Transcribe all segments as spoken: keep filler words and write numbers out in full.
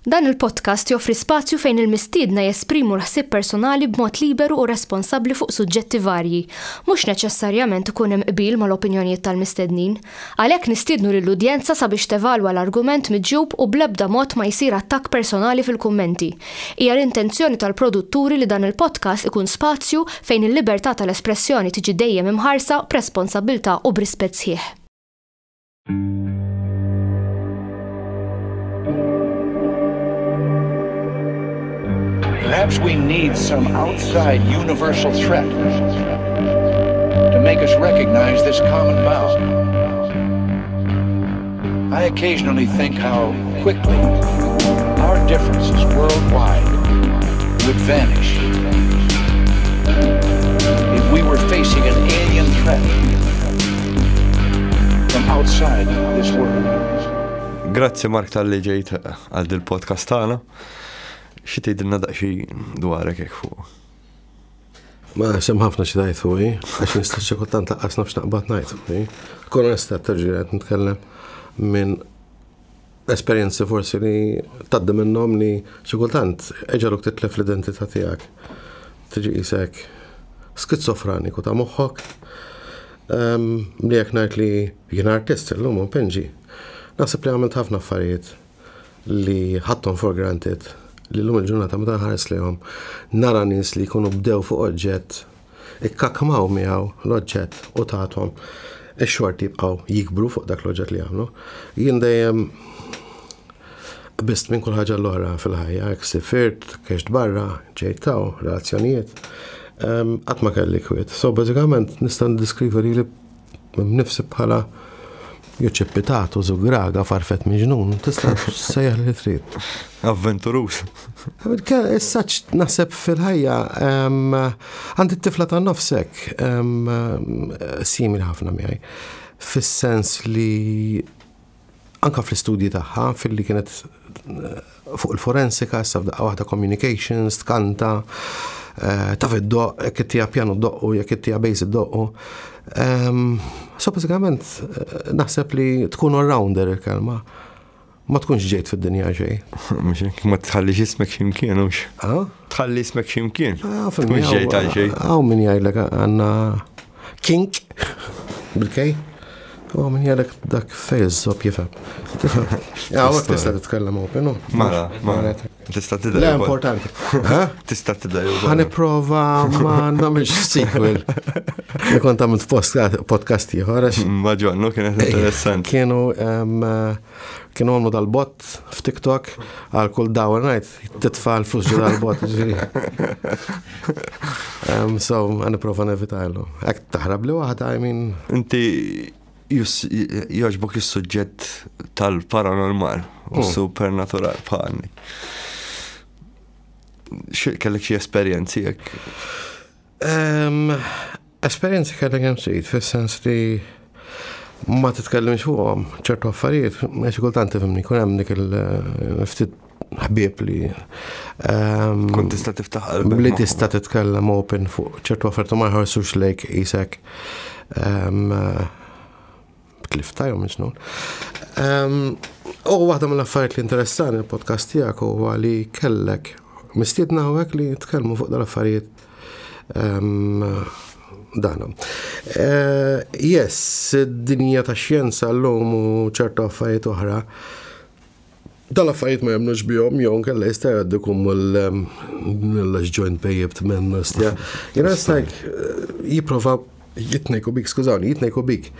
Dan il-podcast joffri spazju fejn il-mistiedna jesprimu l-ħsieb personali b'mod liberu u responsabbli fuq suġġetti varji. Mhux neċessarjament ikun hemm qbil mal-opinjonijiet tal-mistednin. Għalhekk nistiednu lill-udjenza sabiex tevalwa l-argument miġjub u bl-ebda mod ma jsir attakk personali fil-kummenti. Hija l-intenzjoni tal-produtturi li dan il-podcast ikun spazju fejn il-libertà tal-espressjoni tiġi dejjem imħarsa b'responsabbiltà u b'rispett sħiħ. Perhaps we need some outside universal threat to make us recognize this common bond. I occasionally think how quickly our differences worldwide would vanish if we were facing an alien threat from outside this world. Grazzi Mark talli ġejt għal dil-podcast tagħna. Xi tgħidilna daqsxejn dwarek hekk fuq? Ma hemm ħafna xi tgħid fuqi, għax nista' xi kultant lanqas nafx naqbad ngħid fuqi. Kun onesta terġa' qed nitkellem minn esperjenzi forsi li tgħaddi minnhom li xi kultant eġaluk titlef l-identità tiegħek. Tiġi qisek skizofraniku ta' moħħok. Li jekk ngħid li jien artist illum u npinġi. Naħseb li għamilt ħafna affarijiet li ħadthom for granted li l-lum il-ġurnata meta nħares lejhom nara nies li jkunu bdew fuq oġġett, ikkakmaw miegħu l-oġġett u tagħthom ix-xorti jibqgħu jikbru fuq dak l-oġġett li għamlu. Jien dejjem qbist minn kull ħaġa l-oħra fil-ħajja, jekk sifirt, kext barra, ġejt taw, relazzjonijiet, qatt ma kelli kwiet. So bażikament nista' ndiskrivi lili nnifsi bħala jew ċippitatu, żugraga, farfet miġnun, tista' sejjaħ li trid. Avventurus. Issa naħseb fil-ħajja għandi t-tifla ta' nofsek simili ħafna miegħi. Fis-sens li anka fl-istudji tagħha, fil-li kienet fuq il-forensika, issa f'daqqa waħda communications, tkanta, taf id-doq, jekk ittija pjanu doqqu, jekk ittija bass iddoqqu. So bażikament naħseb li tkun all-rounder il-kelma. Ma tkunx ġejt fid-dinja xejn. Mhux hekk, ma tħallix ismek x'imkien, hux. Tħalli ismek x'imkien. Tkunx ġejt għal xejn. Hawn min jgħidlek għandna kink bil-kej. U min jgħidlek dak fej iż-żobb jifhem. Hawnhekk tista' titkellem open, no? Mela, mela. Tista' tidher. Le, importanti. Tista' tidher. Ħa nipprova ma nagħmilx sequel. Li kont għamilt podcast ieħor. Ma ġonnu kienet interessanti. Kienu kienu għamlu dal-bot f'TikTok għal kull dawar ngħid titfa' l-flus ġo dal-bot. So ħa nipprova nevitajlu. Hekk taħrab li waħda, I mean. Inti jogħġbok is-suġġett tal-paranormal u supernatural bħalni. Kellek xi esperjenzi jekk? Esperjenzi kellek hemm trid, fis-sens li ma titkellimx fuqhom ċertu affarijiet, xi kultant tifhimni, jkun hemm dik il-ftit ħbieb li kont tista' tiftaħ qalbek. Li tista' titkellem open fuq ċertu affarijiet u ma jħarsux lejk qisek tlifta jew minn xnun. U waħda mill-affarijiet li interessani il-podcast tiegħek huwa li kellek mistiedna hawnhekk li nitkellmu fuq dal-affarijiet dana. Yes, id-dinja ta' xjenza llum u ċertu affarijiet oħra, dal-affarijiet ma jemmnux bihom jew nkella jista' jgħaddikum mill-joint pejjibt minn stja. You know, it's like jipprova jitnejku bik, skużawni, jitnejku bik.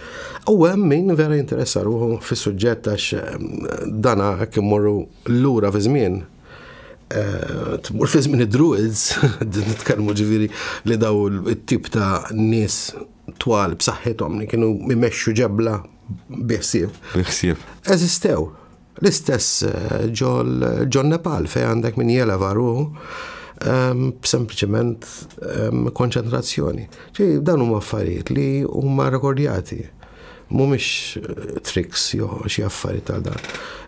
U hemm min vera jinteressa ruħu fis-suġġett għax dana hekk immorru lura fi żmien. Tmur fi żmien id-druids, nitkellmu ġifieri li daw it-tip ta' nies twal b'saħħithom li kienu jmexxu ġebla bi ħsieb. Bi ħsieb. Eżistew. L-istess ġol Nepal fejn għandek min jeleva ruħu b'sempliċement konċentrazzjoni. Ġi, dan huma affarijiet li huma rekordjati. Mhumiex tricks jew xi affarijiet tal dan.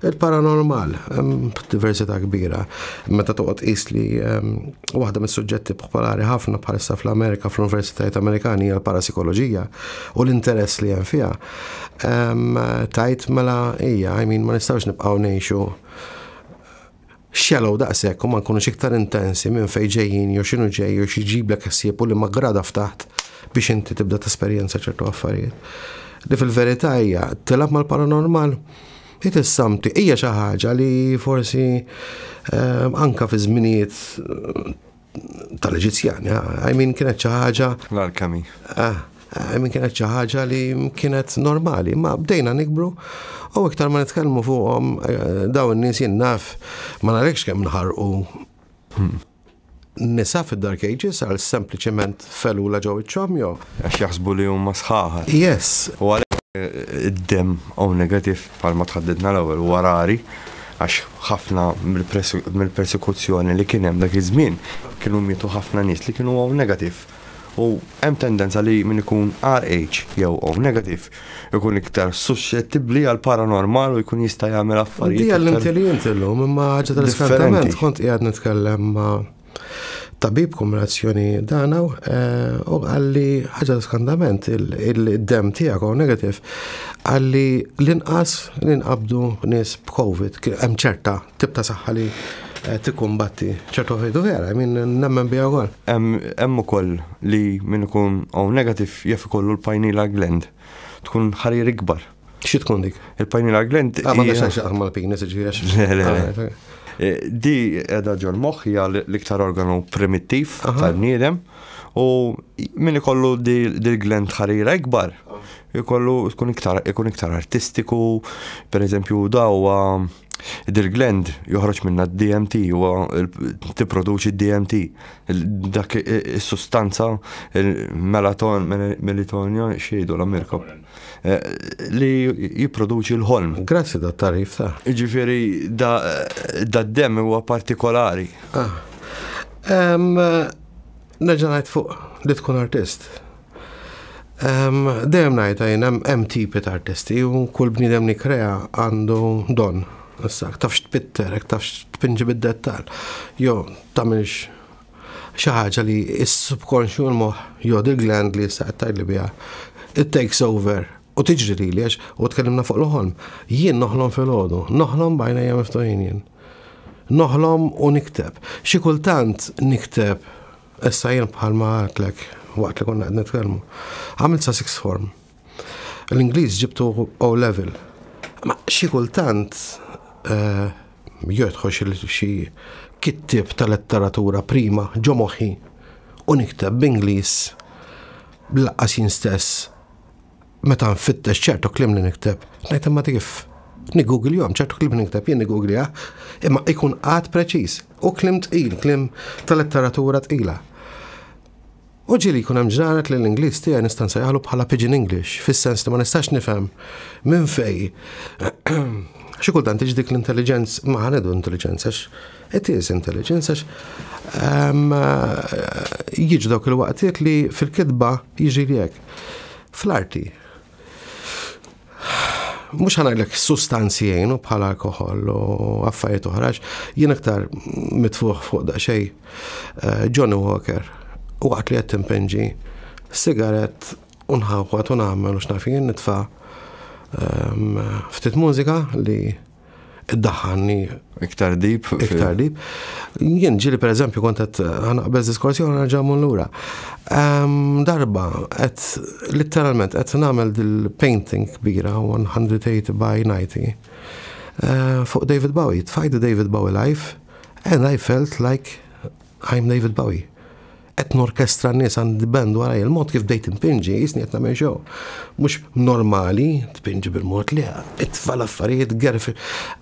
Il-paranormal, hemm diversità kbira. Meta toqgħod qis li waħda mis-suġġetti popolari ħafna bħalissa fl-Amerika, fl-Universitajiet Amerikani hija l-parasikoloġija u l-interess li hemm fiha. Tajt mela hija, I mean, ma nistgħux nibqgħu ngħixu Shallow daqshekk u ma nkunux iktar intensi minn fejn ġejjin jew x'inhu ġej jew xi jġiblek ħsieb u li ma grada ftaħt biex inti tibda tesperjenza ċertu affarijiet. Li fil-verità hija tilgħab mal-paranormal, it is something, hija xi ħaġa li forsi eh, anka fi żminijiet eh, tal-Eġizzjani, I mean, kienet xi ħaġa L-alchemy. Ah, I mean, kienet xi ħaġa li kienet normali, ma bdejna nikbru u iktar ma nitkellmu fuqhom eh, dawn in-nies, jien naf, ma nafx kemm nħarqu nisa fid-Dark Ages għal sempliċement felula ġew iċ-ċomjo. Għax jaħsbu li huma sħaħar. Yes, U għalhekk eh, id-dem O negative, bħalma tħaddidna l-ewwel, huwa rari, għax ħafna mill-persekuzzjoni li kien hemm dak iż-żmien kienu mietu ħafna nies li kienu O negative. U hemm tendenza li min ikun R H jew O negative ikun iktar suscettibbli għal paranormal u jkun jista' jagħmel affarijiet. Di iktar għall-intelligent illum, imma ħaġa tal-iskantament, differenti. kont qiegħed nitkellem ma' tabib kombinazzjoni danaw, eh, u qalli ħaġa tal-iskantament, il-dem tiegħek O negative, qalli l-inqas li nqabdu nies b'Covid, hemm ċerta tip ta' saħħa li eh, tikkumbatti ċertu affarijiet, u vera, min nemmen biha wkoll. Hemm hemm ukoll li min ikun O negative jaf ikollu l-pineal gland tkun ħarir ikbar. Xi tkun dik? Il-pineal gland Ah, ma hija- għax xaqam mal-penis, ġifieri. Le, le, le. Eh, Di edha ġol moħħ, hija l-iktar organu primittiv tal-bniedem u min ikollu dil-gland ħarira ikbar ikollu tkun iktar ikun iktar artistiku, per eżempju dawa dil-gland joħroġ minna D M T, huwa tipproduċi D M T, dak is-sustanza, il-melaton, melatonin, xejdu l-Amerika, eh, li jipproduċi l-ħolm. Grazzi da tarif ta' Ġifieri da, da d-dem huwa partikolari. Ah. Em, Nerġa' ngħid fuq li tkun artist. Em, Dejjem ngħid jien hemm hemm tipi ta' artisti u kull bniedem li krea għandu don. Issa, tafx tpitter, tafx tpinġi bid-dettal. Jo, tagħmilx xi ħaġa li s-subconscious, l-moħħ, jew dil-gland li issa qed tgħidli biha. It takes over. U tiġri li għax u tkellimna fuq l-ħolm. Jien noħlom fil-ħodu, noħlom b'għajnejja miftuħin jien. Noħlom u nikteb. Xi kultant nikteb, issa jien bħalma għedtlek waqt li konna qed nitkellmu. Għamilt sa sixth form. L-Ingliż ġibtu O level. Ma xi kultant eh, jidħol xi xi kittib ta' letteratura prima ġo moħħi u nikteb b'Ingliż lanqas jien stess meta nfittex ċertu kliem li nikteb. Ngħid, imma kif? Nigoogle ċertu kliem li nikteb jien, nigoogle, imma ikun għad preċiż u kliem tqil, kliem ta' letteratura tqila. U ġieli jkun hemm ġranet li l-Ingliż tiegħi nista' nsejjaħlu bħala pidgin English, fis-sens li ma nistax nifhem minn fej. Xi kultant tiġi dik l-intelligenza, ma ħa ngħidu intelligenza għax it is intelligence, għax ehm, jiġu dawk il-waqtiet li fil-kitba jiġi li hekk. Fl-arti, mhux ħa ngħidlek sustanzi jgħinu bħala alkohol u affarijiet oħra, jien aktar mitfuħ fuq daqsxejn eh, Johnny Walker u waqt li qed timpinġi sigaret u nħawwat u nagħmel u x'naf jien, nitfa' ehm, ftit mużika li iddaħħalni Iktar deep. Iktar deep. Jien ġieli, per eżempju, kont qed ħa naqbeż diskorsi u nerġa' mmur lura. Ehm, Darba qed literalment qed nagħmel dil-painting kbira one hundred eighty by ninety eh, fuq David Bowie. Tfajt David Bowie live and I felt like I'm David Bowie. Qed norkestra n-nies, għandi band wara, il-mod kif bdejt impinġi, jisni qed nagħmel show. Mhux normali tpinġi bil-mod li itfa' l-affarijiet gerfi.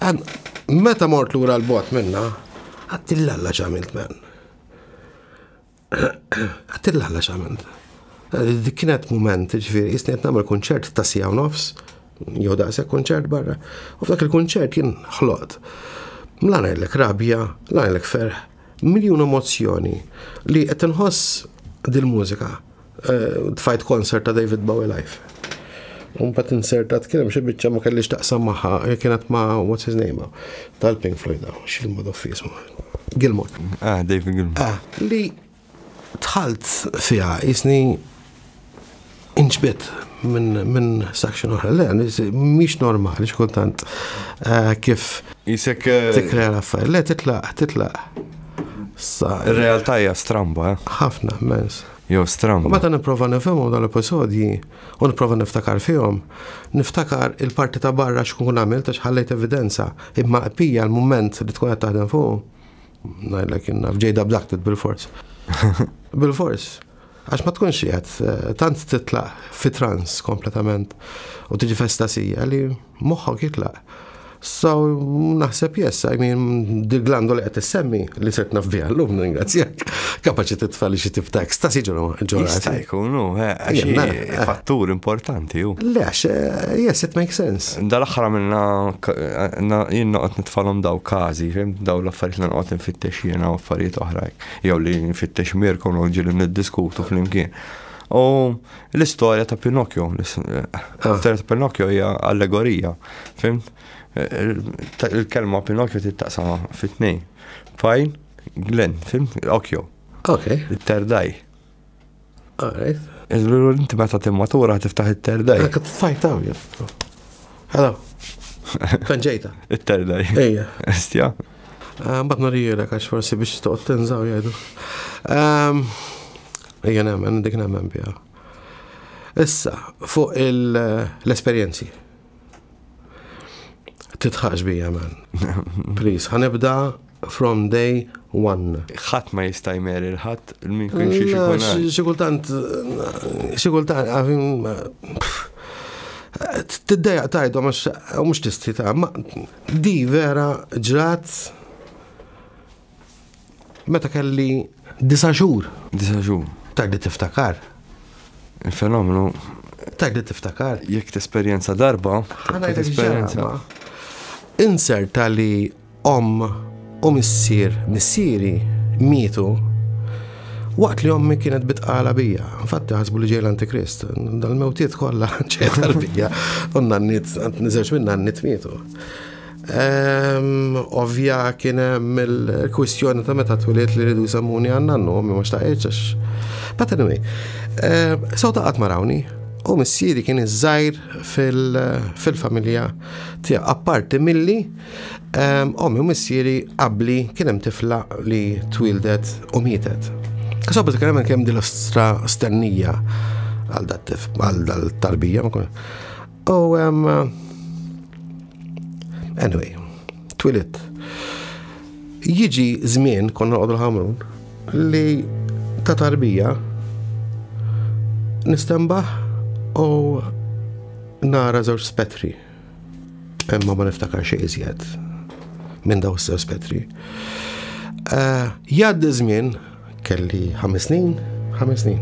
And meta mort lura l-bot minna, għedtillalla x'għamilt, man. Għedtillalla x'għamilt. Dik kienet moment, ġifieri, jisni qed nagħmel kunċert ta' siegħa u nofs, jew daqshekk kunċert barra. U f'dak il-kunċert jien ħloqt. La ngħidlek rabja, la ngħidlek ferħ, miljun emozzjoni li qed inħoss dil-mużika. Eh, Tfajt concert ta' David Bowie live. U mbagħad insertat kien hemm xi biċċa ma kellix taqsam magħha, kienet ma' what's his name tal-Pink Floyd, x'il-madoffi jismu. Gilmour. Ah, David Gilmour. Ah, li dħalt fiha jisni Inġbidt minn min section oħra. Le, mhix normali xkultant eh, kif Jisek eh, tikkrea l-affarijiet. Le, titlaq, titlaq. Sa, Ir-realtà hija stramba, eh? Ħafna, mens. Jew U stramba. meta nipprova nifhimhom dal-episodji u nipprova niftakar fihom, niftakar il-parti ta' barra x'kun għamilt għax ħallejt evidenza, imma pija l-mument li tkun qed taħdem fuq, ngħidlek jien naf ġejda abducted bil-fors. Bil-fors. Għax ma tkunx qiegħed eh, tant titlaq fi trans kompletament u tiġi f'estasija li moħħok jitlaq. So, naħseb yes, I mean, dil-glandu li qed issemmi li sirt naf biha llum, ringrazzjak, kapaċi titfa' li xi tip ta' ekstasi ġo ġo Jista' jkun, hu, eh, għax Jien, hi fattur importanti, hu. Le, għax, eh, yes, it makes sense. Dal-aħħar għamilna jien noqgħod nitfalhom daw każi, fim, daw l-affarijiet li noqgħod nfittex jiena u affarijiet oħra, jew li nfittex Mirko u ġieli niddiskutu flimkien. U l-istorja ta' Pinocchio, l-istorja ta' Pinocchio hija allegorija, fim? Il-kelma Pinocchio tittaqsam fit-tnejn. Pine, gland, fim? Occhio, Ok, il-third eye. Alright. Inti meta timmatura tiftaħ it-third eye. Għak tfajtaw, jien. Hello. Kan ġejta. It-third eye. Ejja. Estja. Mbagħad norijilek għax forsi biex toqgħod tinżaw jgħidu. Ehm, Ejja nemmen, dik nemmen biha. Issa, fuq il- l-esperjenzi. Titħax bija, man. Please, ħa nibda from day one. Ħadd ma jista' jmeri l-ħadd min kien xi Le, xikun. xi- Xi kultant, xi kultant, għafin, tiddejjaq tajdu, mux mux tisti ta' ma di vera ġrat meta kelli disa' xhur. Disa' xhur. Tgħid li tiftakar. Il-fenomenu Tgħid li tiftakar. Jekk tesperjenza darba, Ħa ngħidlek tesperjenza. ġara, Inserta li om u missier, missieri mietu waqt li ommi kienet bitqala bija. Infatti ħasbu li ġej l-Antikrist. Dal-mewtiet kollha ġej tal-bija. U n-nanniet, niżewġ minn nanniet mietu. Ehm, Ovvja kien hemm il-kwistjoni ta' meta twilidt li rridu jsemmuni għan-nannu, ommi ma xtaqitx għax. But anyway, ehm, so ta' qatt ma rawni. U missieri kien iż-żgħir fil-familja tiegħu. Apparti milli ehm, ommi u missieri qabli kien hemm tifla li twildet u mietet. So bażikament kien hemm din l-ostra stennija għal dat-tif, għal dal-tarbija. ma kun- U ehm, anyway, twilidt. Jiġi żmien konna noqogħdu l-Ħamrun li ta' tarbija nistenbaħ u nara żewġ spettri. Imma ma niftakar xejn iżjed minn daw żewġ spettri. Uh, Jgħaddi żmien kelli ħames snin, ħames snin.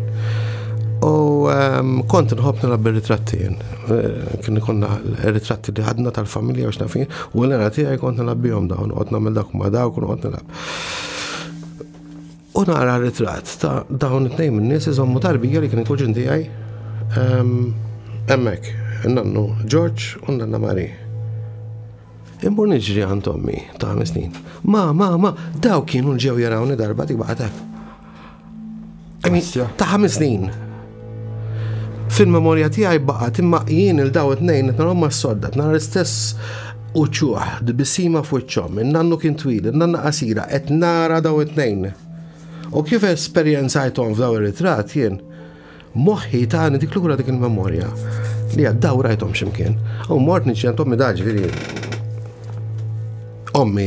U um, kont nħobb nilgħab bir-ritratti jien. Eh, Kien konna ritratti li ħadna tal-familja u x'nafin, u l-għana tiegħi kont nilgħab bihom dawn, noqgħod nagħmel dak ma dawk u noqgħod nilgħab. U nara ritratt ta' dawn it-tnejn min-nies iżommu tarbija li kien il-kuġin tiegħi ehm, hemmhekk, nannu George u nanna Mari. Immur niġri għand ommi ta' ħames snin. Ma, ma, ma, daw kienu ġew jarawni darba dik baqgħet hekk. I mean, Ostja. ta' ħames snin. Fil-memorja tiegħi baqgħet imma jien il daw it-tnejn qed narahom mas-sodda, nara l-istess uċuħ, tbissima f'wiċċhom, in-nannu kien twil, in-nanna qasira, qed nara daw it-tnejn. U kif esperjenzajthom f'daw ir-ritratt jien, moħħi tani dik lura dik il-memorja li għaddaw rajthom x'imkien. U mort niġi għand ommi daġ, ġifieri ommi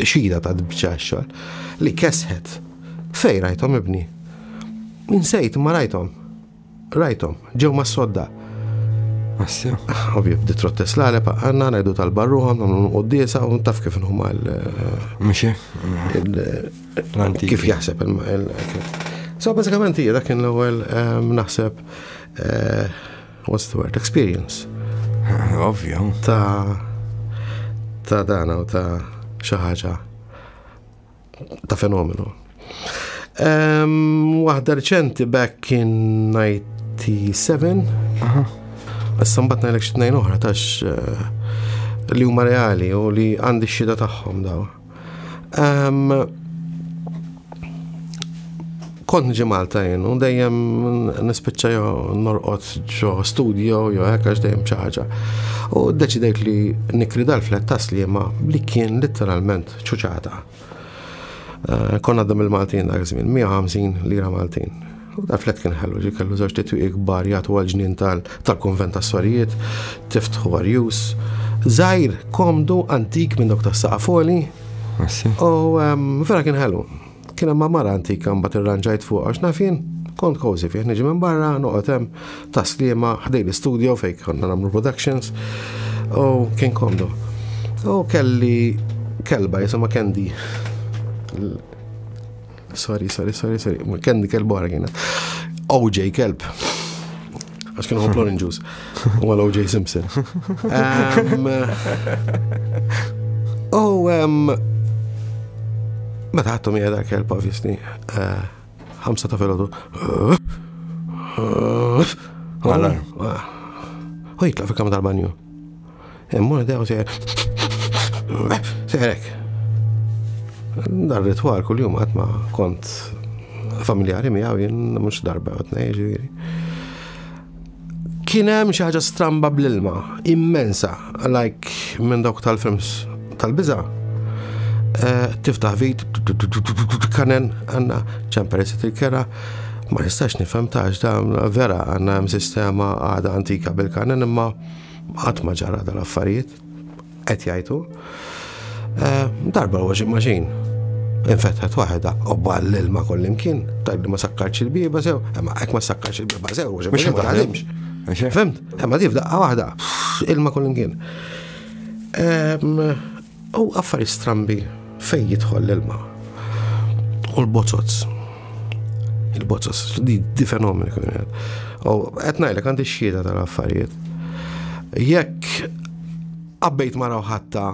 xida ta' biċċa xogħol li kesħet. Fej rajthom ibni? Insejt ma rajthom. Rajthom, ġew ma sodda. Assja. Ovvju, bdiet trottes l-għalep, għanna ngħidu tal-barruħam, nagħmlu quddiesa u taf kif huma l- Mxie. il- L-antiki. kif jaħseb il- il- So, bażikament hija dak kien l-ewwel ehm, naħseb eh, what's the word, experience Ovvju. ta' ta' dana u ta' xi ħaġa ta' fenomenu. Um, Waħda reċenti back in ninety-seven. Issa mbagħad ngħidlek xi tnejn oħra tax eh, li huma reali u li għandi x-xhieda tagħhom daw. Um, Kont niġi Malta jien, u dejjem nispiċċa jew norqod ġo studio jew hekk, għax dejjem xi ħaġa. U ddeċidejt li nikri dal-flat Tas-Sliema li kien letteralment ċuċata. Eh, Konna għaddam il-Maltin dak żmien, mija u ħamsin lira Maltin. U dal-flat kien ħelu, ġi kellu żewġ twieqi kbar jagħtu għal-ġnien tal-konvent tas-sorijiet, tiftħu arjus. Żgħir, komdu, antik minn dawk tas-saqaf għoli. U vera kien ħelu. Kien hemm mara antika, mbagħad irranġajt fuq, għax naf jien, kont cozy fih, niġi minn barra, noqgħod hemm Tas-Sliema ħdejn l-studio fejn konna nagħmlu productions u kien komdu. U kelli kelba jisimha Candy. Sorry, sorry, sorry, sorry. Candy kelba oħra kienet. O J kelb. Għax kienu ħobb orange juice. U għal O J Simpson. U meta ħadtu miegħi dak kelb, obviously, eh, ħamsa ta' filgħodu. Alarm. U jitlaq fil-kamra tal-banju. Immur dew sejjer. Sejrek. Dar ritwal kull-jum, għad ma kont familjari miegħu jien, mhux darba u tnejn, ġifieri. Kien hemm xi ħaġa stramba bl-ilma, immensa, like minn dawk tal-films tal-biża'. Eh, tiftaħ vit, kanen, għandna ċemper il-kera, ma nistax nifhem tax da vera għandna hemm sistema għada antika bil-kanen, imma qatt ma ġara dal-affarijiet, qed jgħidu. Eh, darba l-washing machine infetħet waħda u ball l-ilma kollimkien, tajb li ma sakkarx il-bieba sew, imma hekk ma sakkarx il-bieba sew, washing machine ma taħdimx. Fhimt? Imma di f'daqqa waħda, ilma kollimkien. U affari strambi fej jidħol l-ilma. U l-bozoz. Il-bozoz, di, di fenomeni. U qed ngħidlek, għandi xhieda tal-affarijiet. Jekk qabbejt mara ħatta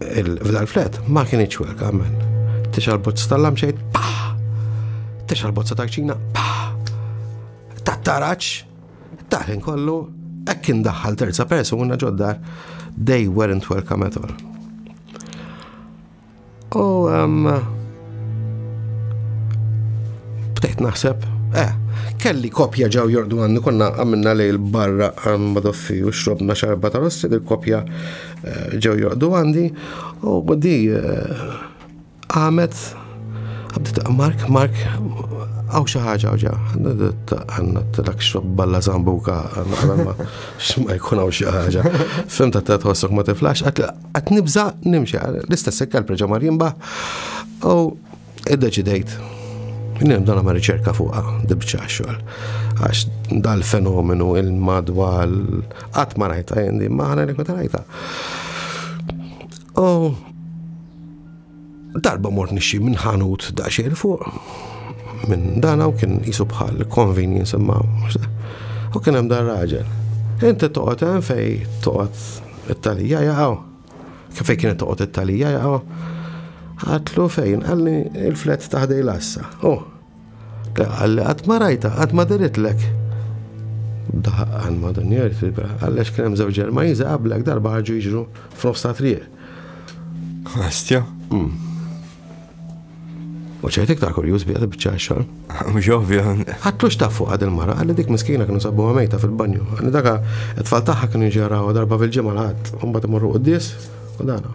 f'dal-flat, ma kienx welcome, man. Tixgħel bozza tal-lampshade, pa! Tixgħel bozza ta' kċina, pa! Tat-taraċ, taħin kollu, hekk indaħħal terza persuna ġod-dar, they weren't welcome at all. U um, bdejt naħseb, eh, kelli kopja ġew jorqdu għandi, konna għamilna lejl barra għand Madoffi u xrobna xarba ta' rossi, il-kopja eh, ġew jorqdu għandi u di eh, għamet għabdet: "Mark, Mark, hawn xi ħaġa, hawn ġa." Għandna t-lak xrob balla zambuka, għandna ma jkun hawn xi ħaġa. Fhimt, ta' tħossok ma tiflax, għat nibża nimxi, l-istess kelb reġa' mar jinbaħ u iddeċidejt nibda nagħmel riċerka fuqha dil-biċċa xogħol. Għax dal-fenomenu il-madwar qatt ma rajta jendi, ma ħana ma rajta. U darba mort nixtri minn ħanut daqsxejn fuq minn dana u kien jisu bħal convenience, imma u kien hemm dar raġel. "Inti toqgħod hemm fej toqgħod it-talija jaqgħu?" Kif kienet toqgħod it-talija jaqgħu? Għedtlu: "Fejn?" Qalli: "Il-flat ta' ħdejn l-għassa." Oh, qalli: "Qatt ma rajta, qatt ma deritlek?" Daħqan ma dunjer, għallex kien hemm żewġ Ġermaniżi qablek, darba ħarġu jiġru f'nofs ta' triq. Ostja. U ġejt iktar kurjuż bija biċċa xogħol. Mhux ovvja. Għedtlu: "X'taf fuq għad il-mara?" Qalli: "Dik miskina kienu sabuha mejta fil-banju." Qalli: "Daka it-tfal tagħha kienu jġaraw darba fil-ġimgħa l-Ħadd, u mbagħad imorru quddies u dana."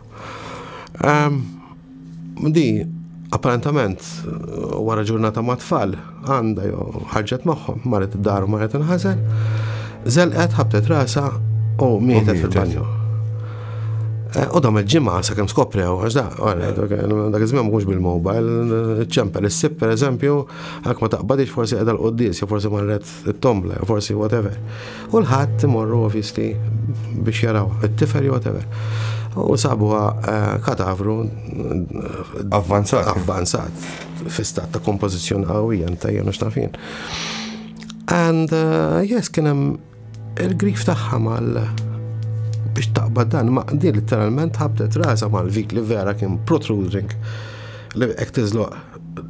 Di apparentament wara ġurnata ma' tfal għandha jew ħarġet magħhom, marret id-dar u marret inħażel, żelqet, ħabtet rasa u mietet fil-banju. Eh, u dam il-ġimgħa sakemm skoprew, għax da, dak iż-żmien mhux bil-mobile, ċempel is-sib, per eżempju, hekk ma taqbadix, forsi qiegħda l-quddies, jew forsi marret it-tombla, jew forsi whatever. U l-Ħadd imorru obviously biex jaraw it-tifel jew whatever. U sabuha eh, katavru. Avvanzat. Avvanzat, fi stat ta' kompożizzjoni qawwija, ntajjen u x'taf jien. And uh, yes, kien hemm il-grif tagħha mal biex taqbad dan, ma di literalment ħabtet rasa mal-vit li vera kien protruding, li hekk tiżloq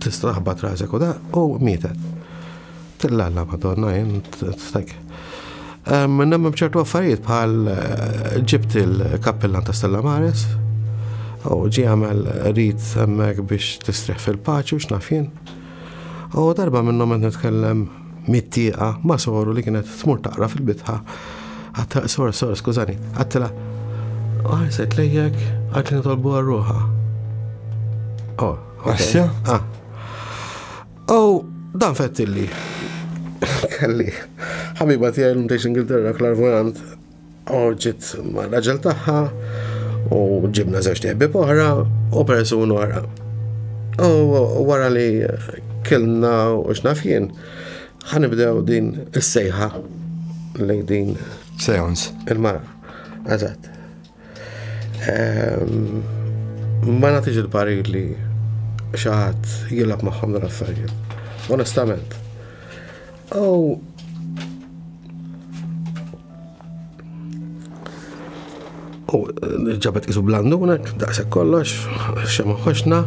tista' taħbat rasek u da, u mietet. Tillalla madonna jien t-tak. Nemmen b'ċertu affarijiet, bħal eh, ġibt il-kappellan ta' Stella Maris u ġi għamel rit hemmhekk biex tistrieħ fil-paċi u x'naf jien. U darba minnhom qed nitkellem mit-tieqa ma' soru li kienet tmur taqra fil-bitħa. Għedtilha, sor, sor, skużani, għedtilha, ħarset lejjek, għedt li nitolbu għal ruħha. Oh, Asja? Ah. Oh, dan fettilli. Kelli. Ħabiba tiegħi l Ingilterra, clairvoyant, u ġiet ma' raġel tagħha u ġibna żewġ ħbieb oħra u persuna oħra. U wara li kilna u x'naf jien, ħa nibdew din is-sejħa lejn din Seance. il-mara. Eżatt. Ehm, Ma nagħtix il-parir li xi ħadd jilgħab magħhom dan affarijiet. Onestament. U U ġabet qisu blandunek, daqshekk kollox, xema ħoxna.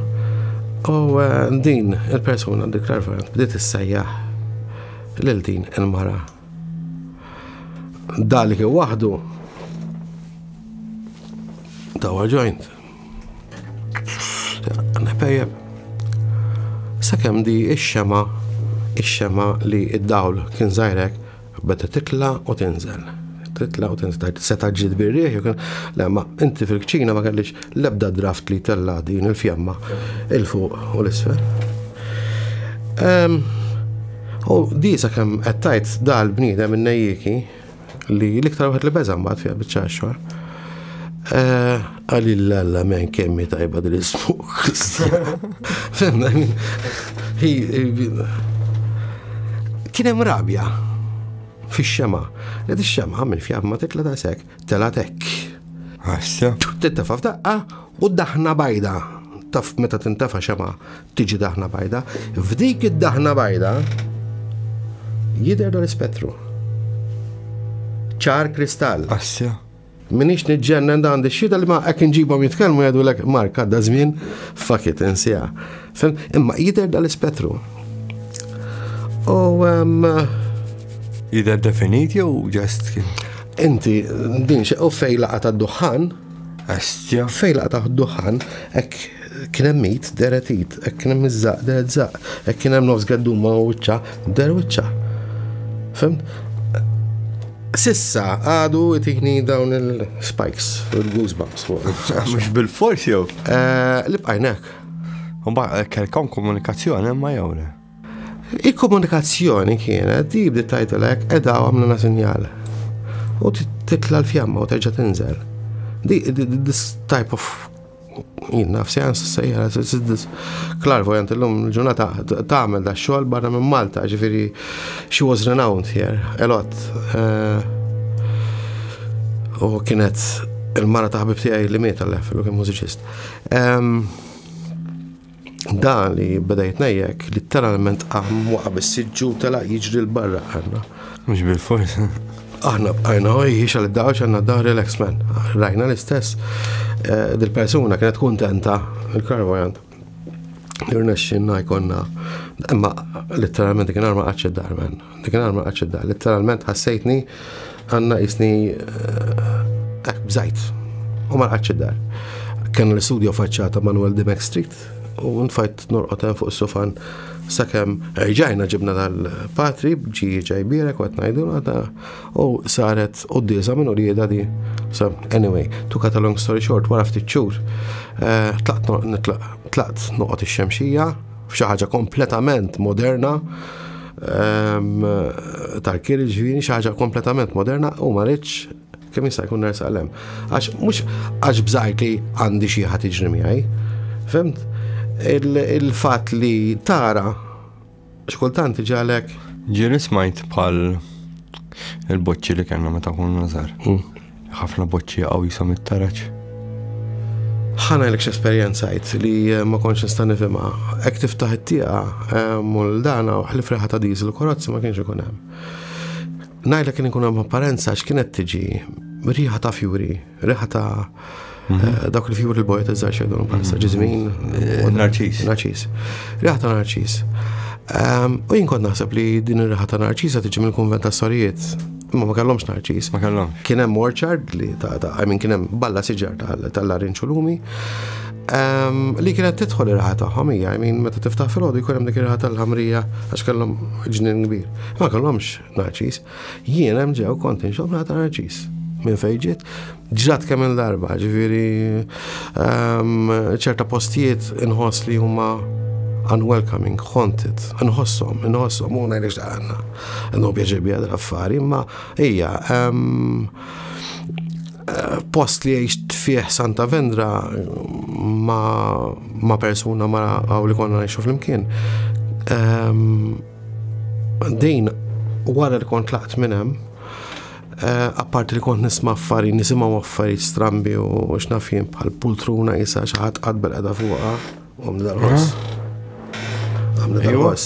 U eh, din il-persuna, dik clairvoyant, bdiet issejjaħ lil din il-mara. Dalik waħdu dawa joint. Nepejjeb. Sakemm di ix-xema, ix-xema li id-dawl kien żgħirek, beda titla u tinżel. Titla u tinżel. Seta ġiet bir-riħ, jew kien- le, ma inti fil-kċina ma kellix l-ebda draft li tella din il-fjamma il-fuq u l-isfel. Ehm, U di sakemm qed tajt dal-bniedem in-nejjiki li l-iktar wieħed li beża' mbagħad fiha biċċa xogħol. Għalli l-alla men kemmi tajba dil ismu. Fhimna, I mean, he- kien hemm rabja fix-xema. Li ix-xema minn fjamma titla daqshekk, telgħet hekk. Asja. Tittefa' f'daqqa u daħna bajda. Taf meta tintefa' xema tiġi daħna bajda. F'dik id-daħna bajda jidher dal-ispettru. Ċar kristall. Asja. Minix niġġennen, da għandi xhieda li ma hekk nġibhom jitkellmu jgħidu lek Mark għadda żmien, fuck it, insija. Fem, imma jidher dal-ispettru. U um, Jidher definit jew just kien? Inti din xe u fej laqa ta' duħan, Asja. fej laqa ta' duħan, hekk kien hemm mit, deret id, hekk kien hemm iż-żaq, deret żaq, hekk kien hemm nofs gedduma u wiċċa, der wiċċa. Fhimt? Sissa għadu itini dawn il-spikes, il-goosebumps fuq. Mhux bil-fors jew? Eh, Li bqajnek. Mbagħad kellkom komunikazzjoni imma jew le? Il-komunikazzjoni kienet, di bdiet tgħidlek, edha għamluna sinjal. U titla l-fjamma u terġa' tinżel. Di, this type of jien naf seance sejra, clairvoyant illum il-ġurnata tagħmel da xogħol barra minn Malta, ġifieri she was renowned here a lot. Eh, U kienet il-mara ta' ħabib tiegħi li miet għal kien mużiċist. Em, Dan li beda jitnejjek, literalment qam waqa' bis-siġġu tela jiġri l-barra għandna. Mhux bil-fors. Aħna bqajna oj, xal id-daw xanna d relax man. Rajna l-istess. Eh, Dil-persuna kienet kontenta, il-clairvoyant. Irnexxinna jkollna. Imma literalment dik ma qgħadx id-dar, man. Dik ma qgħadx id-dar. Literalment ħassejtni għanna jisni eh, bżajt. U ma qgħadx id-dar. Kien l-studio faċċata Manuel Dimek Street u nfajt norqod hemm fuq is-sofan sakemm rġajna ġibna dal-patri ġi ġajbirek u qed ngħidu għada u saret quddiesa minn ulieda di. So anyway, to cut a long story short, wara ftit xhur, eh, tlaqt no- nitlaq tlaqt noqgħod ix-Xemxija f'xi ħaġa kompletament moderna ehm, tal-kiri ġifieri xi ħaġa kompletament moderna u ma rridx kemm jista' jkun nersaq hemm. Għax mhux għax bżajt li għandi xi ħadd jiġri miegħi. Fhimt? Il-fatt li tara xkultant ġalek Ġieli smajt bħal il-boċċi li kellna meta konna żgħar. Mm. Ħafna boċċi jaqgħu jisom it-taraġ. Ħa ngħidlek x'esperjenzajt li ma kontx nista' nifhimha. Hekk tiftaħ it-tieqa u l-dana u ħlif riħa ta' diesel u karozzi ma kienx ikun hemm. Ngħidlek kien ikun hemm apparenza x'kienet tiġi riħa ta' fjuri, riħa ta' eh, dawk il-fjuri l-bojt iż-żgħar xejdu bħalissa ġiżmin. Narċis. Narċis. Riħa ta' narċis. Um, u jien kont naħseb li din ir-riħa ta' narċisa tiġi mill-kunvent ta' sorijiet. Imma ma kellhomx narċis. Ma kellhomx. Kien hemm orchard li ta' ta' I mean kien hemm balla siġar tal-larinġ u lumi. Um, li kienet tidħol ir-riħa tagħhom hija, I mean meta tiftaħ filgħodu jkun hemm dik ir-riħa tal-ħamrija għax kellhom ġnien kbir. Ma kellhomx narċis. Jien hemm ġew kont inxomm riħa ta' narċis. Minn fejn ġiet, ġrat kemm il-darba, ġifieri um, ċerta postijiet inħoss li huma unwelcoming, haunted, nħossom, nħossom, u ngħidlek għandna. Għandhom pjaċir bija l-affari, imma hija, um, post li għixt fih Santa Vendra ma, ma persuna ma għaw li konna ngħixu flimkien. Um, din wara li kont tlaqt minn hemm, uh, apparti li kont nisma' affarijiet, nisimgħu affarijiet strambi u x'naf jien bħal pultruna isa xi ħadd qagħad bilqiegħda fuqha u għamlu dal-ħoss. Għamlu dal-ħoss.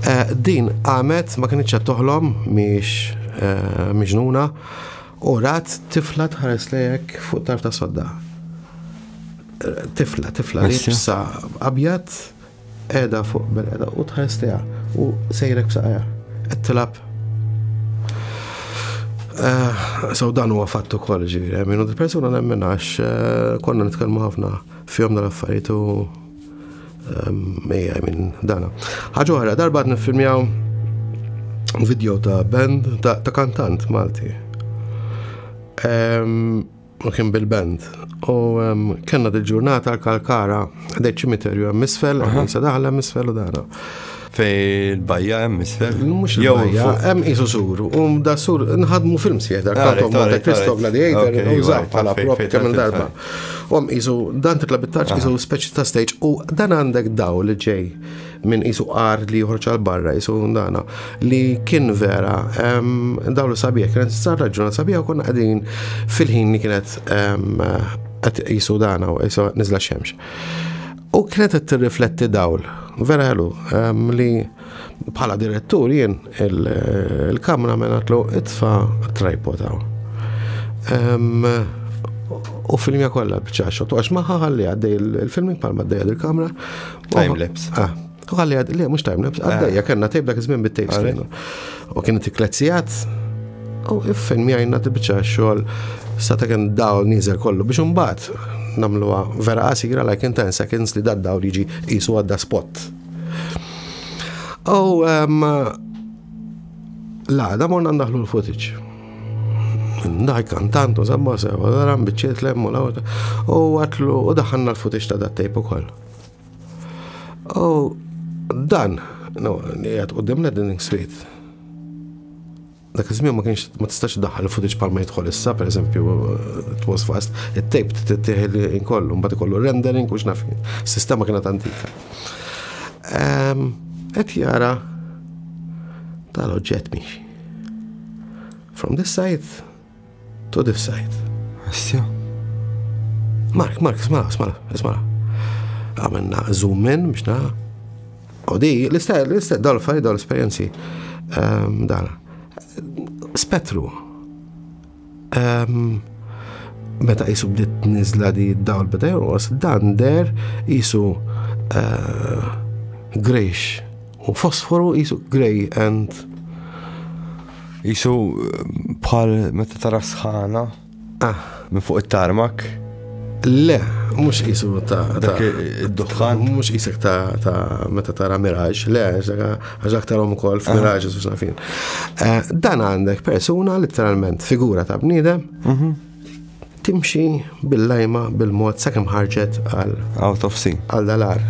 Eh, Din għamet ma kienx qed toħlom mhix eh, miġnuna u rat tifla tħares lejek fuq tarf ta' sodda. Eh, Tifla, tifla Missja. libsa abjad qiegħda fuq bil-qiegħda u tħares lejha u sejrek b'saqajha. Qed tilgħab. Eh, So dan huwa fatt ukoll ġifieri, minn il-persuna nemmen għax eh, konna nitkellmu ħafna fihom dal-affarijiet u ejja minn dana. Ħaġa oħra, darba qed niffilmjaw video ta' band ta' ta' kantant Malti. Em, U kien bil-band. U em, kellna dil-ġurnata l-Kalkara, għadej ċimiterju hemm isfel, sa daħla hemm isfel u dana. Fej il-bajja hemm isfel. Mhux Jew il-bajja, fuq. hemm qisu sur, u da sur nħadmu film sieħ dar Alright, Count of Monte alright, Cristo alright. Gladiator, Okay, użaw right, bħala fej- prop fej kemm il-darba. tal- U hemm qisu dan titla' bit-tarġ qisu speċi ta' stage u dan għandek daw li ġej minn qisu għar li joħroġ għal barra, qisu dana, li kien vera, em, daw li sabiħ, kienet sar raġuna sabiħ u konna qegħdin fil-ħin li kienet em, qed qisu dana u qisu niżla xemx. U kienet qed tirrifletti dawl, vera ħelu, em, li bħala direttur jien il- il-kamera għedtlu itfa' tripod hawn. Em, U filmja kollha bċa shot, għax maħħa ħalli għaddej il-filming palma għaddej il-kamera. Time-lapse. Ah, u ħalli għaddej, le, mhux time-lapse, għaddejja, kellna tape dak iż-żmien bit-tapes kienu. U kienet tliet sigħat, u iffilmjajna biċċa xogħol sa ta' kien dawl nieżel kollu biex imbagħad nagħmluha vera qasira like in ten seconds li dad dawl jiġi qisu għadda spot. U um, la, da morna ndaħlu l-footage. Ndaħ kantant u zamma sewa, daram biċċiet lemmu la u għatlu u daħanna l-footage ta' dat tape ukoll. U dan, no, li għad quddiem l-editing suite. Dak iż-żmien ma kienx ma tistax daħħal il-footage bħal ma jidħol issa, per eżempju, it was fast, it-tape tittieħ inkollu, mbagħad ikollu rendering u x'naf jien. Sistema kienet antika. Ehm, Qed jara tal-oġġett miexi. From this side to this side. Assja. Mark, Mark, isma', isma', isma'. Għamilna zoom in biex na. U di, l-istess, l-istess, dal affari dal esperjenzi. Um, dana. Spettru. Um, meta qisu bdiet nizla di dawl beda jonqos, dan der qisu uh, greyish u fosforu qisu grey and Qisu bħal meta tara sħana ah, minn fuq it-tarmak. Le, mhux qisu ta' ta' Dak id-duħħan. Mhux qisek ta' ta' meta tara Mirage, le, għax aktarhom ukoll f'Mirage u x'naf jien. Eh, Dan għandek persuna letteralment figura ta' bniedem timxi bil-lajma bil-mod sakemm ħarġet għal Out of scene. għal dalar.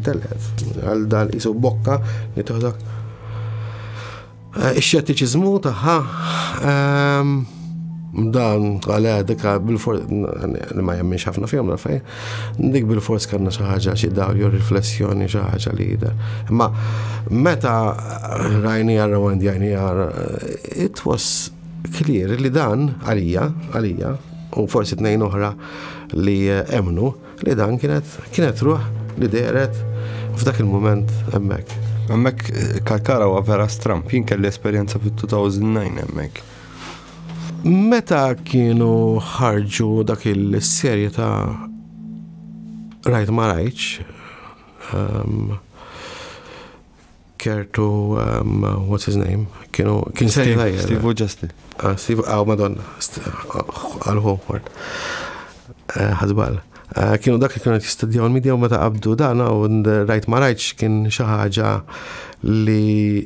Tellet, għal dal qisu bokka li toħdok. Eh, Ix-xettiċiżmu tagħha ehm, dan għalha dika bil-fors li ma jemminx ħafna fihom rafaj, dik bil-fors kellna xi ħaġa xi dawl jew riflessjoni xi ħaġa li jidher. Imma meta rajni rewind jajni it was clear li dan għalija, għalija, u forsi tnejn oħra li emnu li dan kienet kienet ruħ li dehret f'dak il-moment hemmhekk. Hemmhekk Kalkara huwa vera stramp. Jien kelli esperjenza fit-elfejn u disa' hemmhekk. Meta kienu ħarġu dak il-serje ta' Rajt ma rajtx, um, Kurt u um, what's his name, kienu kien serje tajjeb. Steve u Justin. Ah, Steve, għaw Madonna, għal-hu, ħadbal. Kienu dak li kienu jistudjaw il-media u meta qabdu dan u rajt ma rajtx kien xi ħaġa li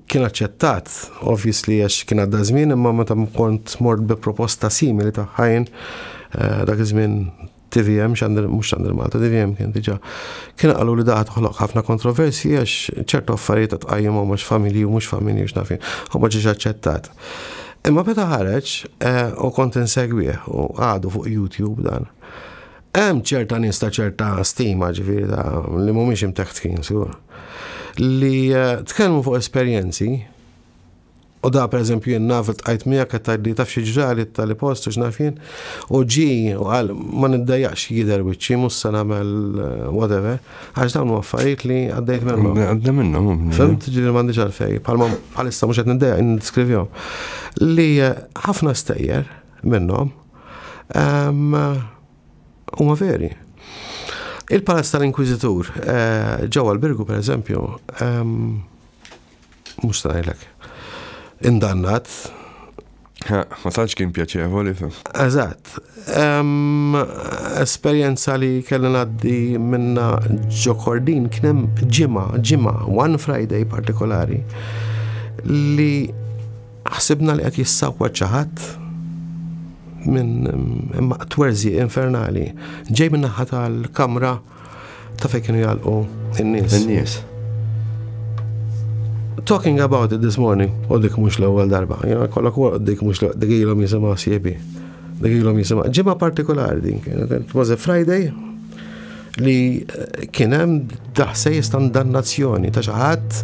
kien aċċettat, obviously, għax kien għadda żmien, imma meta kont mort bi proposta simili ta' ħajn dak iż-żmien T V M, xandir, mhux Xandir Malta, T V M kien diġà. Kien qalu li daħat toħloq ħafna kontroversi għax ċertu affarijiet tqajjimhom mhux familji u mhux familji u x'naf jien, u ma ġiex aċċettat. Imma meta ħareġ u kont insegwih u għadu fuq YouTube dan. Hemm ċerta nies ta' ċerta stima, ġifieri ta' li mhumiex imteħtkin sigur, li tkellmu fuq esperjenzi. U da, per eżempju, jien naf tqajt miegħek qed tgħidli taf xi ġrali tal post u x'naf jien, u ġi u qal ma niddejjaqx jidher wiċċi, mhux se nagħmel whatever, għax dawn huma affarijiet li għaddejt minnhom. Għadda minnhom. Fhimt, ġifieri m'għandix għalfej, bħalma bħalissa mhux qed niddejjaq nideskrivihom. Li ħafna stejjer minnhom huma veri. Il-Palazz tal-Inkwizitur ġewwa l-Birgu, per eżempju, mhux ta' ngħidlek indannat. Ma tantx kien pjaċevoli. Eżatt. Esperjenza li kelli ngħaddi minna ġo Kordin, kien hemm ġimgħa, ġimgħa, one Friday partikolari, li ħsibna li qed jissawwa xi ħadd minn imma twerżiq infernali. Ġej minn naħa tal-kamra ta' fejn kienu jagħlqu in-nies. In-nies. Talking about it this morning, u dik mhux l-ewwel darba, jena kollok dik mhux dik ilhom jisimgħu siebi. Dik ilhom jisimgħu. Ġimgħa partikolari din kienet, it was a Friday li kien hemm daħsejjes ta' dannazzjoni ta' xi ħadd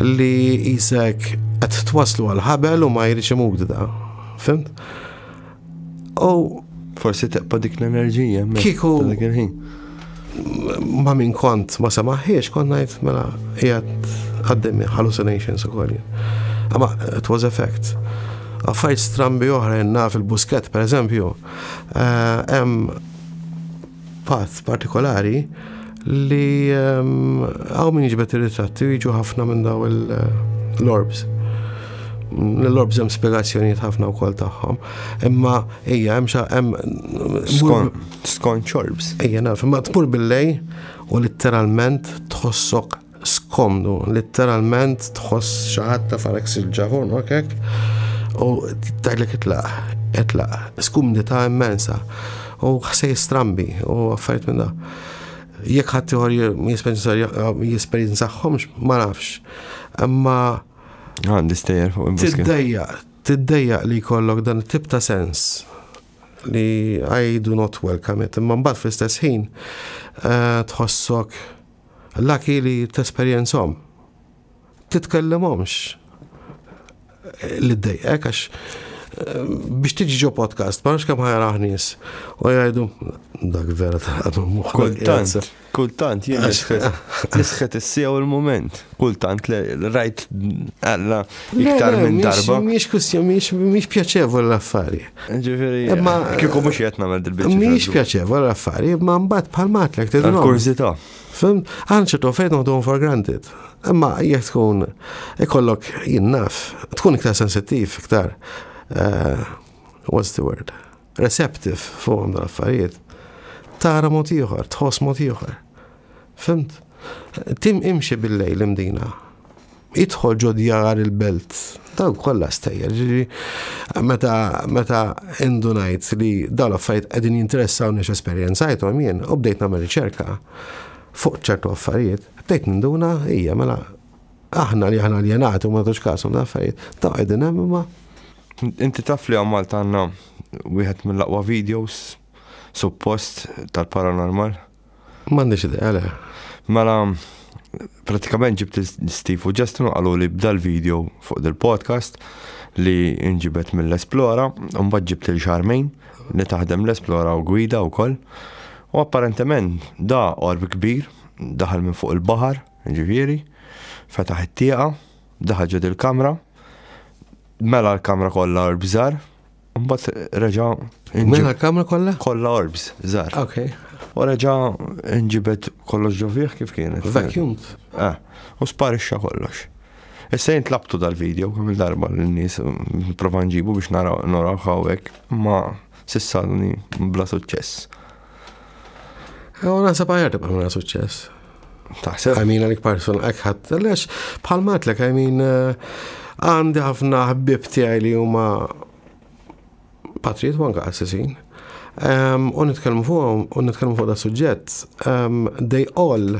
li jisek qed twaslu għal ħabel u ma jridx imut da. Fhimt? U Forsi teqpa dik l-enerġija hemmhekk Kieku- ta' dak il-ħin. Ma min kont ma semaħiex, kont ngħid mela qiegħed għaddemi hallucinations ukoll jien. Imma it was a fact. Affarijiet strambi oħra jenna fil-Buskett, per eżempju, eh, hemm path partikolari li hawn min jiġbed ir-ritratti u jiġu ħafna minn daw l-orbs. L-orbs hemm spjegazzjonijiet ħafna wkoll tagħhom. Imma hija hemm xa hemm Skont orbs. Ejja naf, imma tmur billejl u litteralment tħossok skomdu, litteralment tħoss xi ħadd ta' farek sil-ġavon, ok? U tgħidlek itlaq, itlaq, skumdità immensa. U ħsej strambi u affarijiet minn da. Jekk ħadd ieħor jesperjenzahomx, ma nafx. Imma Għandi stejjer fuq il-Buskett. Tiddejjaq, tiddejjaq li jkollok dan it-tip ta' sens li I do not welcome it, imma mbagħad fl-istess ħin eh, tħossok lucky li tesperjenzhom. Titkellimhomx li ddejqek għax eh, biex tiġi ġo podcast, ma nafx kemm ħa jarah nies u jgħidu dak vera ta' Kultant, kultant, jien nisħet nisħet is-sija u l-moment. Kultant li rajt għalla iktar minn darba. Mhix kwistjoni, mhix mhix pjaċevoli l-affari. Ġifieri, Imma- kieku mhux qed nagħmel dil-biċċa. Mhix pjaċevoli l-affari, imma mbagħad bħal matlek tidhom. Kurżità. Fhimt, għan ċertu fejn noħduhom for granted. Imma jekk tkun ikollok, jien naf, tkun iktar sensittiv, iktar, eh, what's the word? Receptive fuqhom dan affarijiet. Tara mod ieħor, tħoss mod ieħor. Fhimt? Tim imxi bil-lejl Imdina. Idħol ġo djar il-belt. Dawn kollha stejjer. Ġifieri, meta meta indunajt li dawn l-affarijiet qegħdin jinteressawni x'esperjenzajthom jien u bdejt nagħmel riċerka fuq ċertu affarijiet, bdejt ninduna hija mela aħna li aħna aljenati u ma tux kasom da affarijiet. Ta' qegħdin hemm imma Inti taf li għal Malta għandna wieħed mill-aqwa videos suppost tal-paranormal. M'għandix idea le. Mela, pratikament ġibt Steve u Justin u qalu li bda l-video fuq dil-podcast li inġibet mill-Esplora, u mbagħad ġibt il Charmaine li taħdem l-Esplora u gwida u koll. U apparentement da orb kbir, daħal minn fuq il-baħar, ġifieri, fetaħ it-tieqa, daħal ġod il-kamra, mela l-kamra kollha orbs żgħar, u mbagħad reġa' Mela l-kamra kollha? Kollha orbs żgħar. Ok. U reġa' nġibet kollox ġo fih kif kienet. Vacuumed. Eh, u sparixxa kollox. Issa jien tlabtu dal-video kemm il-darba l-nies prova nġibu biex naraw naraw hawnhekk, ma s'issa għadni bla suċċess. U naħseb aħjar tibqa' mingħajr suċċess. Taħseb? I mean, għalik person, ekħat, għalix, bħal matlek, I mean, eh, għandi ħafna ħbib tiegħi li huma patrijiet u anka qassisin. Um, u nitkellmu fuq u nitkellmu fuq da suġġett, um, they all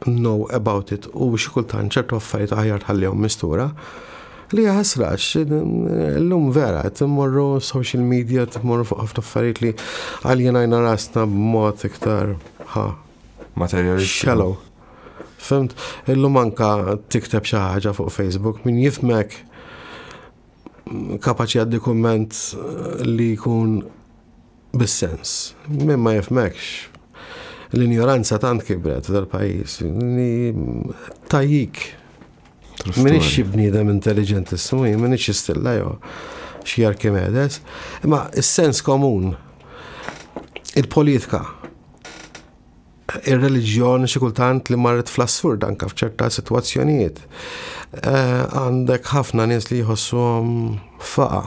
know about it u xi kultant ċertu affarijiet aħjar tħallihom mistura. Li ħasrax, l-lum vera, timmorru social media, timmorru fuq ħafna affarijiet li għaljenajna rasna b'mod iktar ha, Materialisti. Shallow. Fhimt, illum anka tikteb xi ħaġa fuq Facebook min jifhmek kapaċi għaddi kumment li jkun bis-sens. Min ma jifhmekx. L-ignoranza tant kibret dal-pajjiż. Li tajjik. Minix xi bniedem intelligentissimu, minix xi stilla jew xi Archimedes, imma is-sens komun, il-politika, ir-reliġjon xi kultant li marret fl-assurd anka f'ċerta sitwazzjonijiet. Eh, Għandek ħafna nies li jħossuhom faqa,